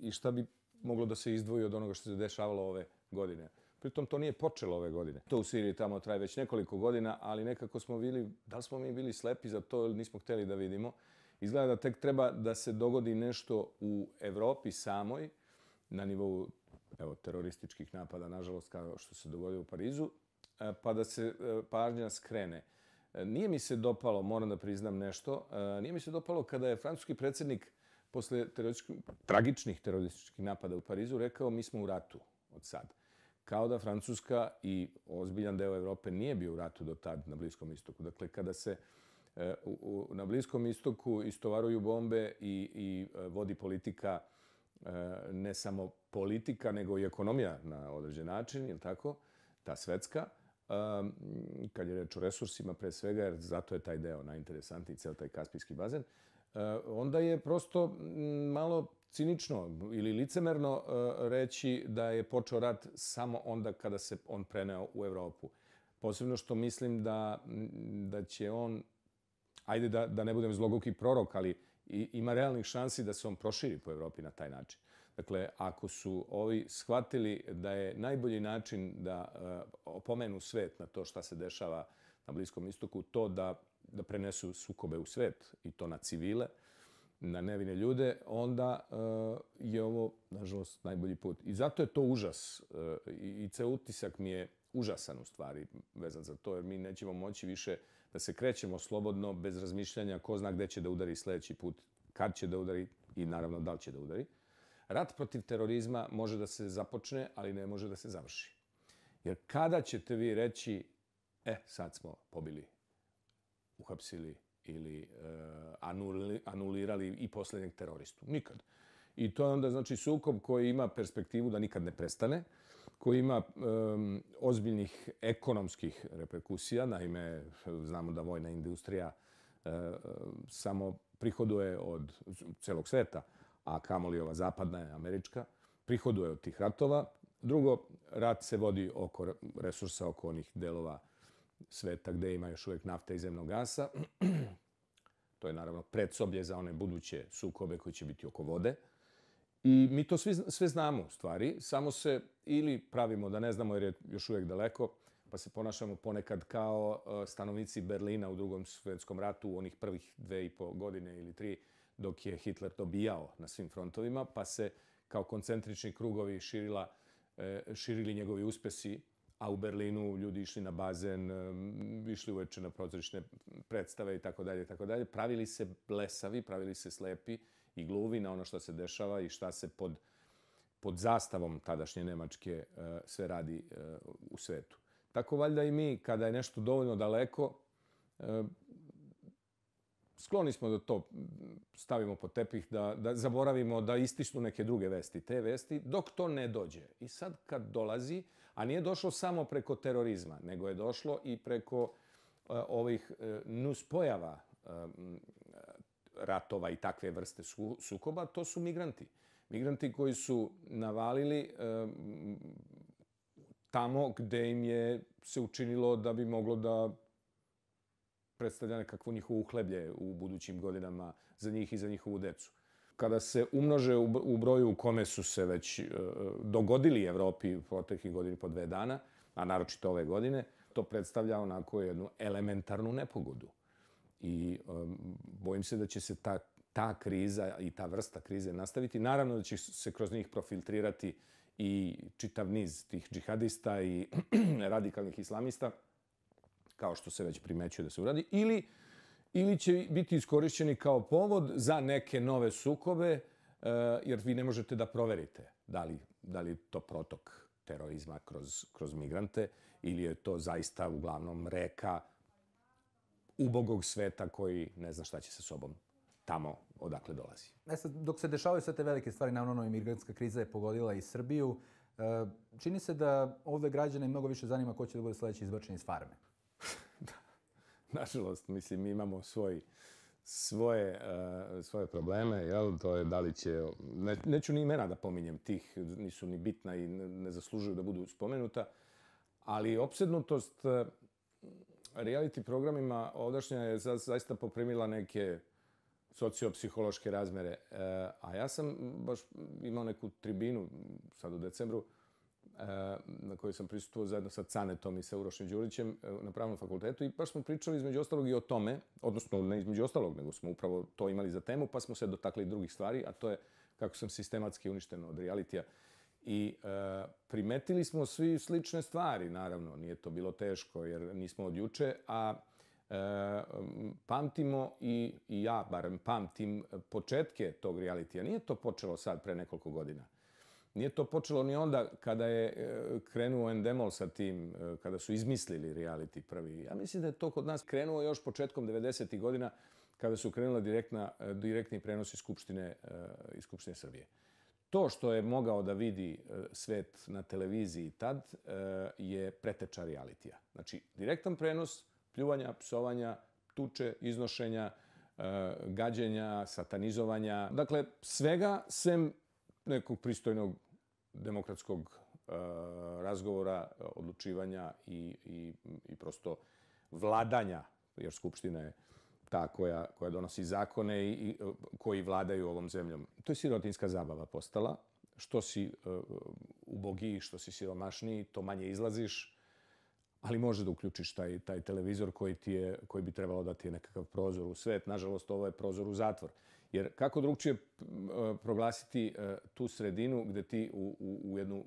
i šta bi moglo da se izdvoji od onoga što se dešavalo ove godine. Pritom to nije počelo ove godine. To u Siriji tamo traje već nekoliko godina, ali nekako smo bili, da li smo mi bili slepi za to ili nismo hteli da vidimo. Izgleda da tek treba da se dogodi nešto u Evropi samoj, na nivou evo, terorističkih napada, nažalost, kao što se dogodio u Parizu, pa da se pažnja skrene. Nije mi se dopalo, moram da priznam nešto, nije mi se dopalo kada je francuski predsjednik posle tragičnih terorističkih napada u Parizu rekao mi smo u ratu od sad. Kao da Francuska i ozbiljan deo Evrope nije bio u ratu do tad na Bliskom istoku. Dakle, kada se na Bliskom istoku istovaruju bombe i, i vodi politika, ne samo politika, nego i ekonomija na određen način, je li tako, ta svetska, kad je reč o resursima pre svega, jer zato je taj deo najinteresantniji, ceo taj Kaspijski bazen, onda je prosto malo cinično ili licemerno reći da je počeo rat samo onda kada se on preneo u Evropu. Posebno što mislim da, da će on, ajde da, da ne budem zloguki prorok, ali ima realnih šansi da se on proširi po Evropi na taj način. Dakle, ako su ovi shvatili da je najbolji način da opomenu svet na to šta se dešava na Bliskom istoku, to da, da prenesu sukobe u svet i to na civile, na nevine ljude, onda je ovo, nažalost, najbolji put. I zato je to užas. I ceo utisak mi je užasan u stvari vezan za to, jer mi nećemo moći više da se krećemo slobodno, bez razmišljanja ko zna gde će da udari sljedeći put, kad će da udari i naravno da li će da udari. Rat protiv terorizma može da se započne, ali ne može da se završi. Jer kada ćete vi reći, e, sad smo pobili, uhapsili ili anulirali i posljednjeg teroristu? Nikad. I to je onda znači sukob koji ima perspektivu da nikad ne prestane, koji ima ozbiljnih ekonomskih reperkusija. Naime, znamo da vojna industrija samo prihoduje od celog sveta, a kamoli ova zapadna, američka, prihoduje od tih ratova. Drugo, rat se vodi oko resursa, oko onih delova sveta gde ima još uvijek nafta i zemnog gasa. To je naravno predsoblje za one buduće sukobe koji će biti oko vode. I mi to svi, sve znamo u stvari, samo se ili pravimo da ne znamo jer je još uvijek daleko, pa se ponašamo ponekad kao stanovnici Berlina u Drugom svjetskom ratu u onih prvih dve i po godine ili tri, dok je Hitler dobijao na svim frontovima, pa se kao koncentrični krugovi širila, širili njegovi uspesi, a u Berlinu ljudi išli na bazen, išli uveče na pozorišne predstave i tako dalje, tako dalje. Pravili se blesavi, pravili se slepi i gluvi na ono što se dešava i šta se pod, pod zastavom tadašnje Nemačke sve radi u svetu. Tako valjda i mi, kada je nešto dovoljno daleko, skloni smo da to stavimo pod tepih, da, da zaboravimo da istisnu neke druge vesti, te vesti, dok to ne dođe. I sad kad dolazi, a nije došlo samo preko terorizma, nego je došlo i preko uh, ovih uh, nuspojava uh, ratova i takve vrste su, sukoba, to su migranti. Migranti koji su navalili uh, tamo gde im je se učinilo da bi moglo da predstavlja nekakvo njihovo uhleblje u budućim godinama za njih i za njihovu decu. Kada se umnože u broju u kome su se već dogodili Evropi u proteklih godini po dve dana, a naročito ove godine, to predstavlja onako jednu elementarnu nepogodu. I um, bojim se da će se ta, ta kriza i ta vrsta krize nastaviti. Naravno da će se kroz njih profiltrirati i čitav niz tih džihadista i radikalnih islamista, kao što se već primećuje da se uradi, ili, ili će biti iskorišćeni kao povod za neke nove sukobe, jer vi ne možete da proverite da li, da li je to protok terorizma kroz, kroz migrante ili je to zaista uglavnom reka ubogog sveta koji ne zna šta će sa sobom tamo odakle dolazi. E sad, dok se dešavaju sve te velike stvari, naravno imigrantska kriza je pogodila i Srbiju, čini se da ovde građane mnogo više zanima ko će da bude sledeći izbačen iz farme. Nažalost, mislim, mi imamo svoj, svoje, uh, svoje probleme, jel? To je da li će... Ne, neću ni imena da pominjem tih, nisu ni bitna i ne, ne zaslužuju da budu spomenuta, ali opsednutost uh, reality programima ovdašnja je za, zaista poprimila neke sociopsihološke razmere. Uh, a ja sam baš imao neku tribinu sad u decembru, na kojoj sam prisustvovao zajedno sa Canetom i sa Urošem Đurićem na Pravnom fakultetu i baš smo pričali između ostalog i o tome, odnosno ne između ostalog, nego smo upravo to imali za temu, pa smo se dotakli drugih stvari, a to je kako sam sistematski uništen od realitija. I e, primetili smo svi slične stvari, naravno, nije to bilo teško jer nismo od juče, a e, pamtimo i, i ja barem pamtim početke tog realitija. Nije to počelo sad pre nekoliko godina. Nije to počelo ni onda kada je krenuo Endemol sa tim, kada su izmislili reality prvi. Ja mislim da je to kod nas krenuo još početkom devedesetih godina kada su krenula direktna, direktni prenosi Skupštine, iz Skupštine Srbije. To što je mogao da vidi svet na televiziji tad je preteča realitija. Znači, direktan prenos, pljuvanja, psovanja, tuče, iznošenja, gađenja, satanizovanja. Dakle, svega sem nekog pristojnog demokratskog uh, razgovora, odlučivanja i, i, i prosto vladanja, jer Skupština je ta koja, koja donosi zakone i, i koji vladaju ovom zemljom. To je sirotinjska zabava postala. Što si uh, ubogiji, što si siromašniji, to manje izlaziš, ali može da uključiš taj, taj televizor koji, ti je, koji bi trebalo da ti je nekakav prozor u svet. Nažalost, ovo je prozor u zatvor. Jer kako drugčije proglasiti tu sredinu gde ti u, u, u jednu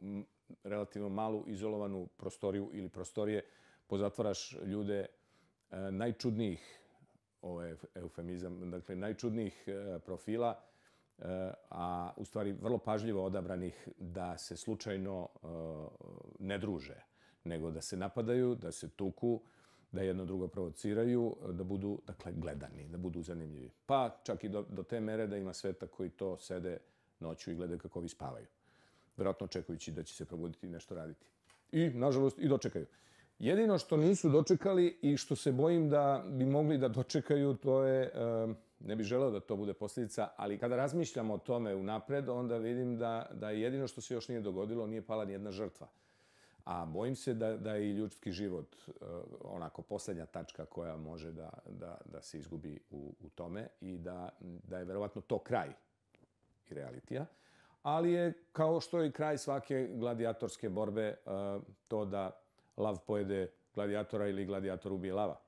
relativno malu izolovanu prostoriju ili prostorije pozatvaraš ljude najčudnijih, ovo je eufemizam, dakle najčudnijih profila, a u stvari vrlo pažljivo odabranih da se slučajno ne druže, nego da se napadaju, da se tuku, da jedno drugo provociraju, da budu, dakle, gledani, da budu zanimljivi. Pa čak i do, do te mere da ima sveta koji to sede noću i gledaju kako vi spavaju. Vjerojatno očekujući da će se probuditi i nešto raditi. I, nažalost, i dočekaju. Jedino što nisu dočekali i što se bojim da bi mogli da dočekaju, to je, ne bih želeo da to bude posljedica, ali kada razmišljam o tome unapred, onda vidim da, da jedino što se još nije dogodilo, nije pala nijedna žrtva. A bojim se da, da je i ljudski život onako posljednja tačka koja može da, da, da se izgubi u, u tome i da, da je verovatno to kraj i realitija. ali je, kao što je i kraj svake gladijatorske borbe, to da lav pojede gladijatora ili gladijator ubije lava.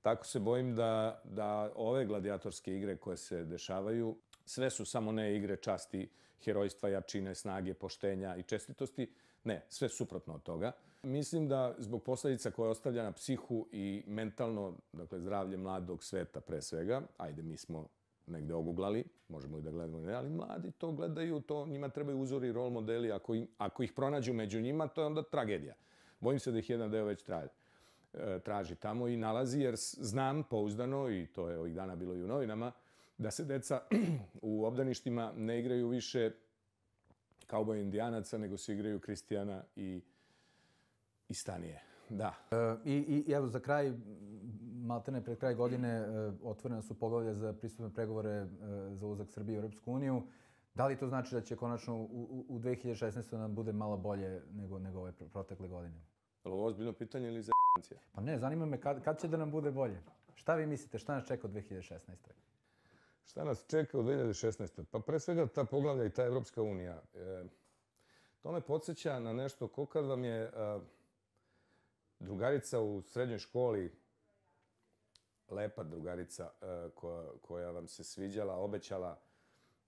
Tako se bojim da, da ove gladijatorske igre koje se dešavaju, sve su samo ne igre časti, herojstva, jačine, snage, poštenja i čestitosti. Ne, sve suprotno od toga. Mislim da zbog posledica koje ostavlja na psihu i mentalno, dakle zdravlje mladog sveta pre svega, ajde mi smo negde oguglali, možemo i da gledamo, ne, ali mladi to gledaju, to njima trebaju uzori, rol modeli, ako, im, ako ih pronađu među njima, to je onda tragedija. Bojim se da ih jedan deo već traži, traži tamo i nalazi, jer znam pouzdano, i to je ovih dana bilo i u novinama, da se deca u obdaništima ne igraju više kauboja indijanaca, nego se igraju Kristijana i, i Stanije. Da. E, i, I evo za kraj, maltene pred kraj godine, e, otvorena su poglavlja za pristupne pregovore e, za ulazak Srbije u Europsku uniju. Da li to znači da će konačno u, u, u dve hiljade šesnaestoj nam bude malo bolje nego, nego ove protekle godine? Je li ovo ozbiljno pitanje ili za *******? Pa ne, zanima me kad, kad će da nam bude bolje. Šta vi mislite, šta nas čeka u dve hiljade šesnaestoj? Šta nas čeka u dve hiljade šesnaestoj? Pa pre svega ta poglavlja i ta Evropska unija. E, to me podsjeća na nešto ko kad vam je a, drugarica u srednjoj školi, lepa drugarica a, koja, koja vam se sviđala, obećala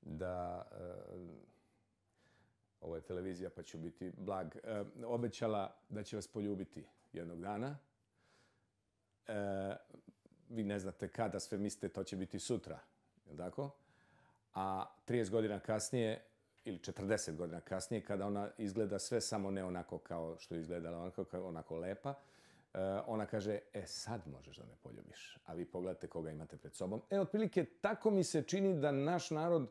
da, a, ovo je televizija pa ću biti blag, a, obećala da će vas poljubiti jednog dana. E, vi ne znate kada, sve mislite to će biti sutra. Jel' tako? A trideset godina kasnije, ili četrdeset godina kasnije, kada ona izgleda sve samo ne onako kao što je izgledala, onako, onako lepa, ona kaže, e sad možeš da me poljubiš. A vi pogledate koga imate pred sobom. E, otprilike, tako mi se čini da naš narod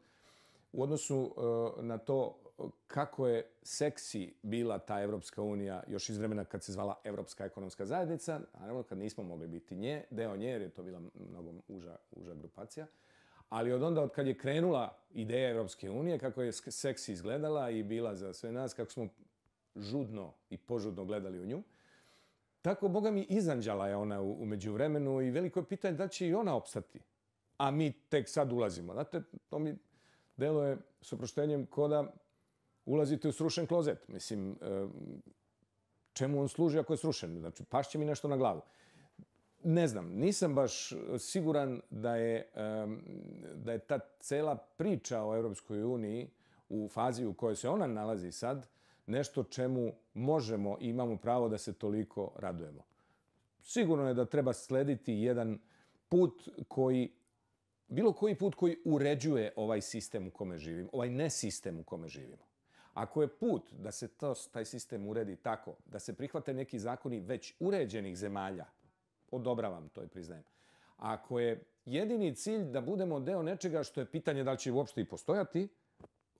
u odnosu na to kako je seksi bila ta Evropska unija još iz vremena kad se zvala Evropska ekonomska zajednica, naravno kad nismo mogli biti nje, deo nje, jer je to bila mnogo uža, uža grupacija. Ali od onda, od kad je krenula ideja Evropske unije, kako je seksi izgledala i bila za sve nas, kako smo žudno i požudno gledali u nju, tako, boga mi, izanđala je ona u, u međuvremenu i veliko je pitanje da će i ona opstati. A mi tek sad ulazimo. Znate, to mi deluje s oproštenjem ko da ulazite u srušen klozet. Mislim, čemu on služi ako je srušen? Znači, pašće mi nešto na glavu. Ne znam, nisam baš siguran da je, da je ta cela priča o Evropskoj uniji u fazi u kojoj se ona nalazi sad nešto čemu možemo i imamo pravo da se toliko radujemo. Sigurno je da treba slediti jedan put koji, bilo koji put koji uređuje ovaj sistem u kome živimo, ovaj nesistem u kome živimo. Ako je put da se to, taj sistem uredi tako, da se prihvate neki zakoni već uređenih zemalja, odobravam to i priznajem. Ako je jedini cilj da budemo deo nečega što je pitanje da li će uopšte i postojati,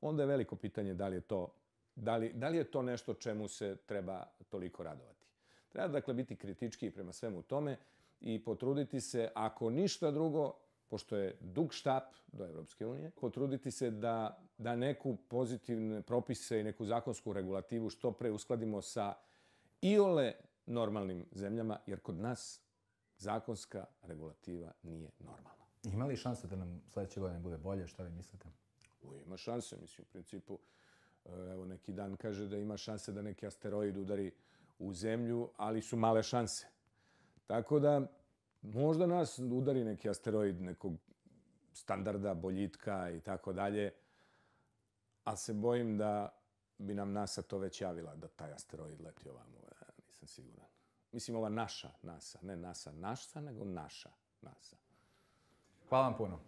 onda je veliko pitanje da li je to, da li, da li je to nešto čemu se treba toliko radovati. Treba dakle biti kritički prema svemu tome i potruditi se, ako ništa drugo, pošto je dug štap do Evropske unije, potruditi se da, da neku pozitivne propise i neku zakonsku regulativu što pre uskladimo sa iole normalnim zemljama, jer kod nas zakonska regulativa nije normalna. Ima li šanse da nam sledeće godine bude bolje? Šta vi mislite? O, ima šanse, mislim, u principu. Evo, neki dan kaže da ima šanse da neki asteroid udari u zemlju, ali su male šanse. Tako da, možda nas udari neki asteroid nekog standarda, boljitka i tako dalje, ali se bojim da bi nam NASA to već javila, da taj asteroid leti ovamo. Ja, nisam siguran. Mislim, ova naša NASA, ne NASA naša, nego naša NASA. Hvala vam puno.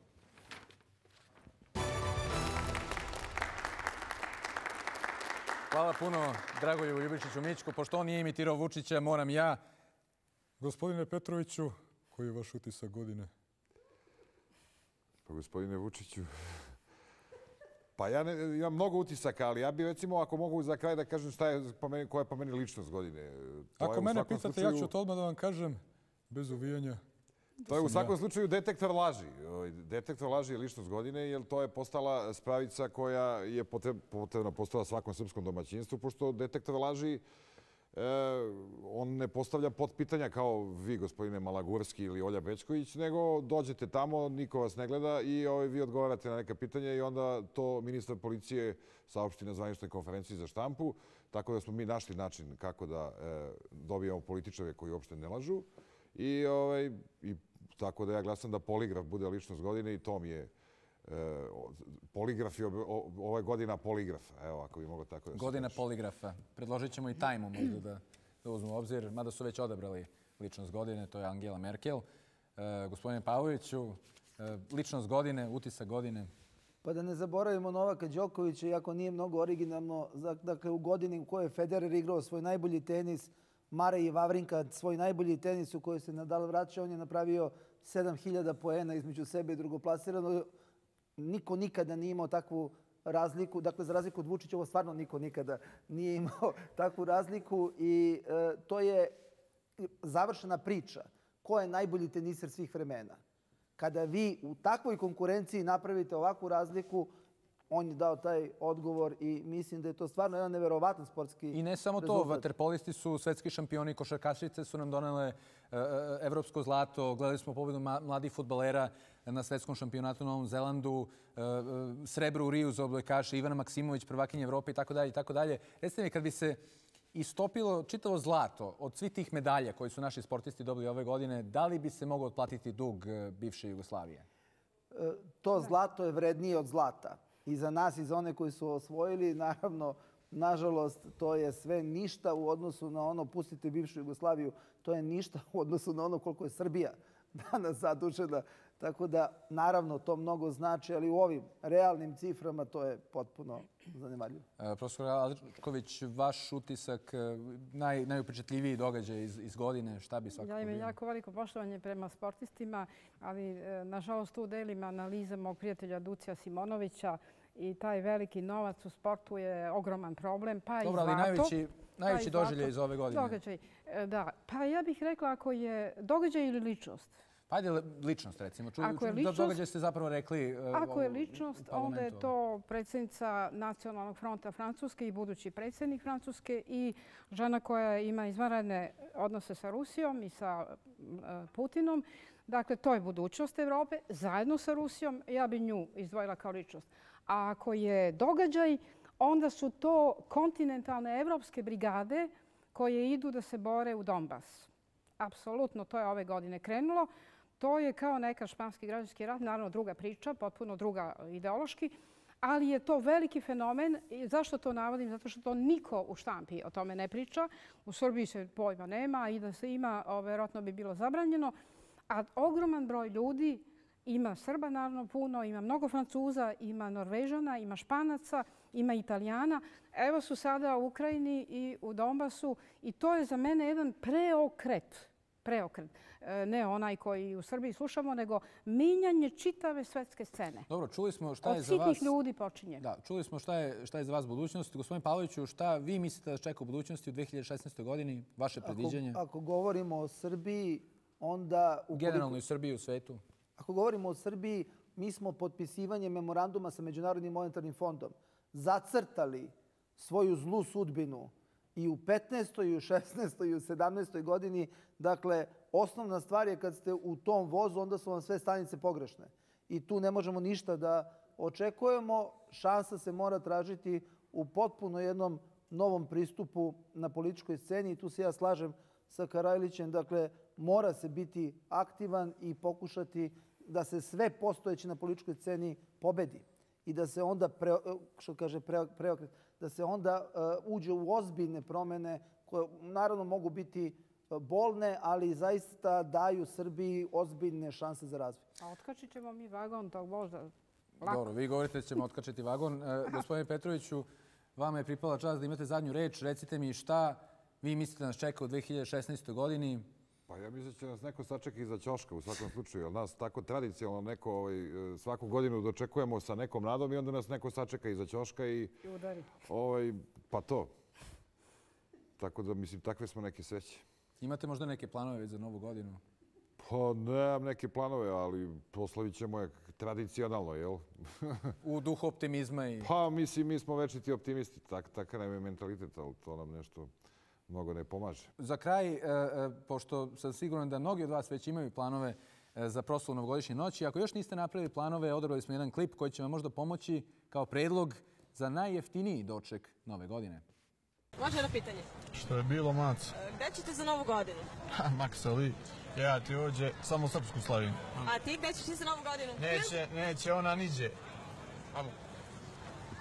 Hvala puno Dragoljubu Ljubičiću Mićku. Pošto on nije imitirao Vučića, moram ja. Gospodine Petroviću, koji je vaš utisak godine? Pa gospodine Vučiću, pa ja ne, imam mnogo utisaka, ali ja bih recimo, ako mogu za kraj da kažem šta je po meni, koja je po meni ličnost godine. To ako mene pitate, slučaju, ja ću to odmah da vam kažem, bez uvijanja. To je u svakom ja. slučaju detektor laži. Detektor laži je ličnost godine, jer to je postala spravica koja je potrebna postala svakom srpskom domaćinstvu, pošto detektor laži on ne postavlja potpitanja kao vi, gospodine Malagurski ili Olja Bećković, nego dođete tamo, niko vas ne gleda i vi odgovarate na neka pitanja i onda to ministar policije saopšti na zvaničnoj konferenciji za štampu. Tako da smo mi našli način kako da dobijemo političare koji uopšte ne lažu. I tako da ja glasam da poligraf bude ličnost godine i to mi je poligraf je ove godina poligrafa. Evo, ako bi moglo tako da se Godina poligrafa. Predložit ćemo i tajmu možda da uzmu u obzir, mada su već odabrali ličnost godine, to je Angela Merkel. Gospodine Pavloviću, ličnost godine, utisak godine? Pa da ne zaboravimo Novaka Đokovića, iako nije mnogo originalno, dakle u godini u kojoj je Federer igrao svoj najbolji tenis, Mare i Vavrinka svoj najbolji tenis u kojoj se Nadal vraća, on je napravio sedam hiljada poena između sebe i drugoplasirano. Niko nikada nije imao takvu razliku. Dakle, za razliku od Vučića, ovo stvarno niko nikada nije imao takvu razliku i to je završena priča. Ko je najbolji teniser svih vremena? Kada vi u takvoj konkurenciji napravite ovakvu razliku, on je dao taj odgovor i mislim da je to stvarno jedan neverovatan sportski rezultat. I ne samo to, vaterpolisti su svetski šampioni, košarkašice su nam donele evropsko zlato, gledali smo pobedu mladih fudbalera na svetskom šampionatu u Novom Zelandu, srebro u Riju za odbojkaše, Ivana Maksimović, prvakinja Evrope itd. itd. Recite mi, kad bi se istopilo čitavo zlato od svih tih medalja koji su naši sportisti dobili ove godine, da li bi se mogao otplatiti dug bivše Jugoslavije? To zlato je vrednije od zlata. I za nas i za one koji su osvojili, naravno, nažalost, to je sve ništa u odnosu na ono, pustite bivšu Jugoslaviju, to je ništa u odnosu na ono koliko je Srbija danas zadužena. Tako da, naravno, to mnogo znači, ali u ovim realnim ciframa to je potpuno zanemarljivo. Profesor Aličković, vaš utisak, najupečatljiviji događaj iz godine, šta bi svakako bio? Ja imam jako veliko poštovanje prema sportistima, ali nažalost tu delim analize mog prijatelja Ducija Simonovića i taj veliki novac u sportu je ogroman problem, pa i zlato. Dobro, ali najveći doživljaj iz ove godine? Događaj, da. Pa ja bih rekla ako je događaj ili ličnost. Pa ajde ličnost, recimo. Da događaj ste zapravo rekli u parlamentu. Ako je ličnost, onda je to predsjednica Nacionalnog fronta Francuske i budući predsjednik Francuske i žena koja ima izvanredne odnose sa Rusijom i sa Putinom. Dakle, to je budućnost Evrope. Zajedno sa Rusijom ja bi nju izdvojila kao ličnost. A ako je događaj, onda su to kontinentalne evropske brigade koje idu da se bore u Donbas. Apsolutno, to je ove godine krenulo. To je kao neka španski građanski rat, naravno druga priča, potpuno druga ideološki, ali je to veliki fenomen. Zašto to navodim? Zato što to niko u štampi o tome ne priča. U Srbiji se pojma nema i da se ima, vjerojatno bi bilo zabranjeno. A ogroman broj ljudi, ima Srba naravno puno, ima mnogo Francuza, ima Norvežana, ima Španaca, ima Italijana. Evo su sada u Ukrajini i u Donbasu i to je za mene jedan preokret. Preokret. Ne onaj koji u Srbiji slušamo, nego minjanje čitave svetske scene. Dobro, čuli smo šta je za vas... Od sitnih ljudi počinje. Da, čuli smo šta je, šta je za vas budućnost. Gospodin Pavloviću, šta vi mislite da čeka u budućnosti u dve hiljade šesnaestoj. godini? Vaše predviđanje? Ako, ako govorimo o Srbiji, onda... Ukoliko... Generalno i Srbiji u svetu? Ako govorimo o Srbiji, mi smo potpisivanjem memoranduma sa Međunarodnim monetarnim fondom zacrtali svoju zlu sudbinu i u petnaestoj, i u šesnaestoj, i u sedamnaestoj godini. Dakle, osnovna stvar je kad ste u tom vozu, onda su vam sve stanice pogrešne. I tu ne možemo ništa da očekujemo. Šansa se mora tražiti u potpuno jednom novom pristupu na političkoj sceni. I tu se ja slažem sa Karajlićem. Dakle, mora se biti aktivan i pokušati da se sve postojeće na političkoj sceni pobedi. I da se onda, pre, što kaže, pre, preokret, da se onda uh, uđe u ozbiljne promjene koje naravno mogu biti bolne, ali zaista daju Srbiji ozbiljne šanse za razvoj. A otkačit ćemo mi vagon tog voza lako. Dobro, vi govorite da ćemo otkačiti vagon. E, gospodine Petroviću, vama je pripala čast da imate zadnju reč. Recite mi šta vi mislite da nas čeka u dve hiljade šesnaestoj. godini? Pa ja mislim da će nas neko sačekati iza ćoška u svakom slučaju. Jer nas tako tradicionalno neko ovaj, svaku godinu dočekujemo sa nekom nadom i onda nas neko sačeka iza ćoška i... I udari. Ovaj, pa to. Tako da, mislim, takve smo neke sreće. Imate možda neke planove za novu godinu? Pa nemam neke planove, ali proslavit ćemo je tradicionalno, jel? U duhu optimizma i... Pa mislim, mi smo večiti optimisti. Tak, takav nam je mentalitet, ali to nam nešto mnogo ne pomaže. Za kraj, pošto sam siguran da mnogi od vas već imaju planove za proslavu novogodišnje noći, ako još niste napravili planove, odabrali smo jedan klip koji će vam možda pomoći kao predlog za najjeftiniji doček nove godine. Može jedno pitanje? Što je bilo, mac? Gde ćete za novu godinu? Maksali, ja ti ođe, samo srpsku slavim. A ti gde ćeš ti za novu godinu? Neće, neće, ona niđe.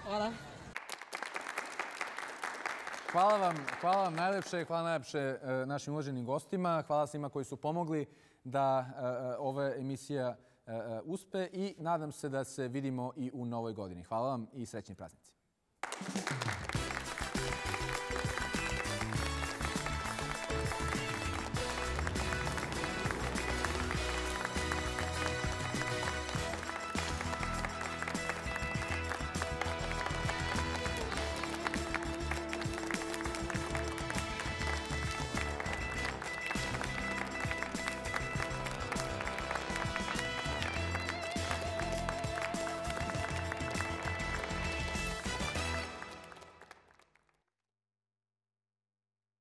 Hvala. Hvala vam, hvala vam najlepše, hvala najlepše našim uvaženim gostima, hvala svima koji su pomogli da ova emisija uspe i nadam se da se vidimo i u novoj godini. Hvala vam i srećni praznici.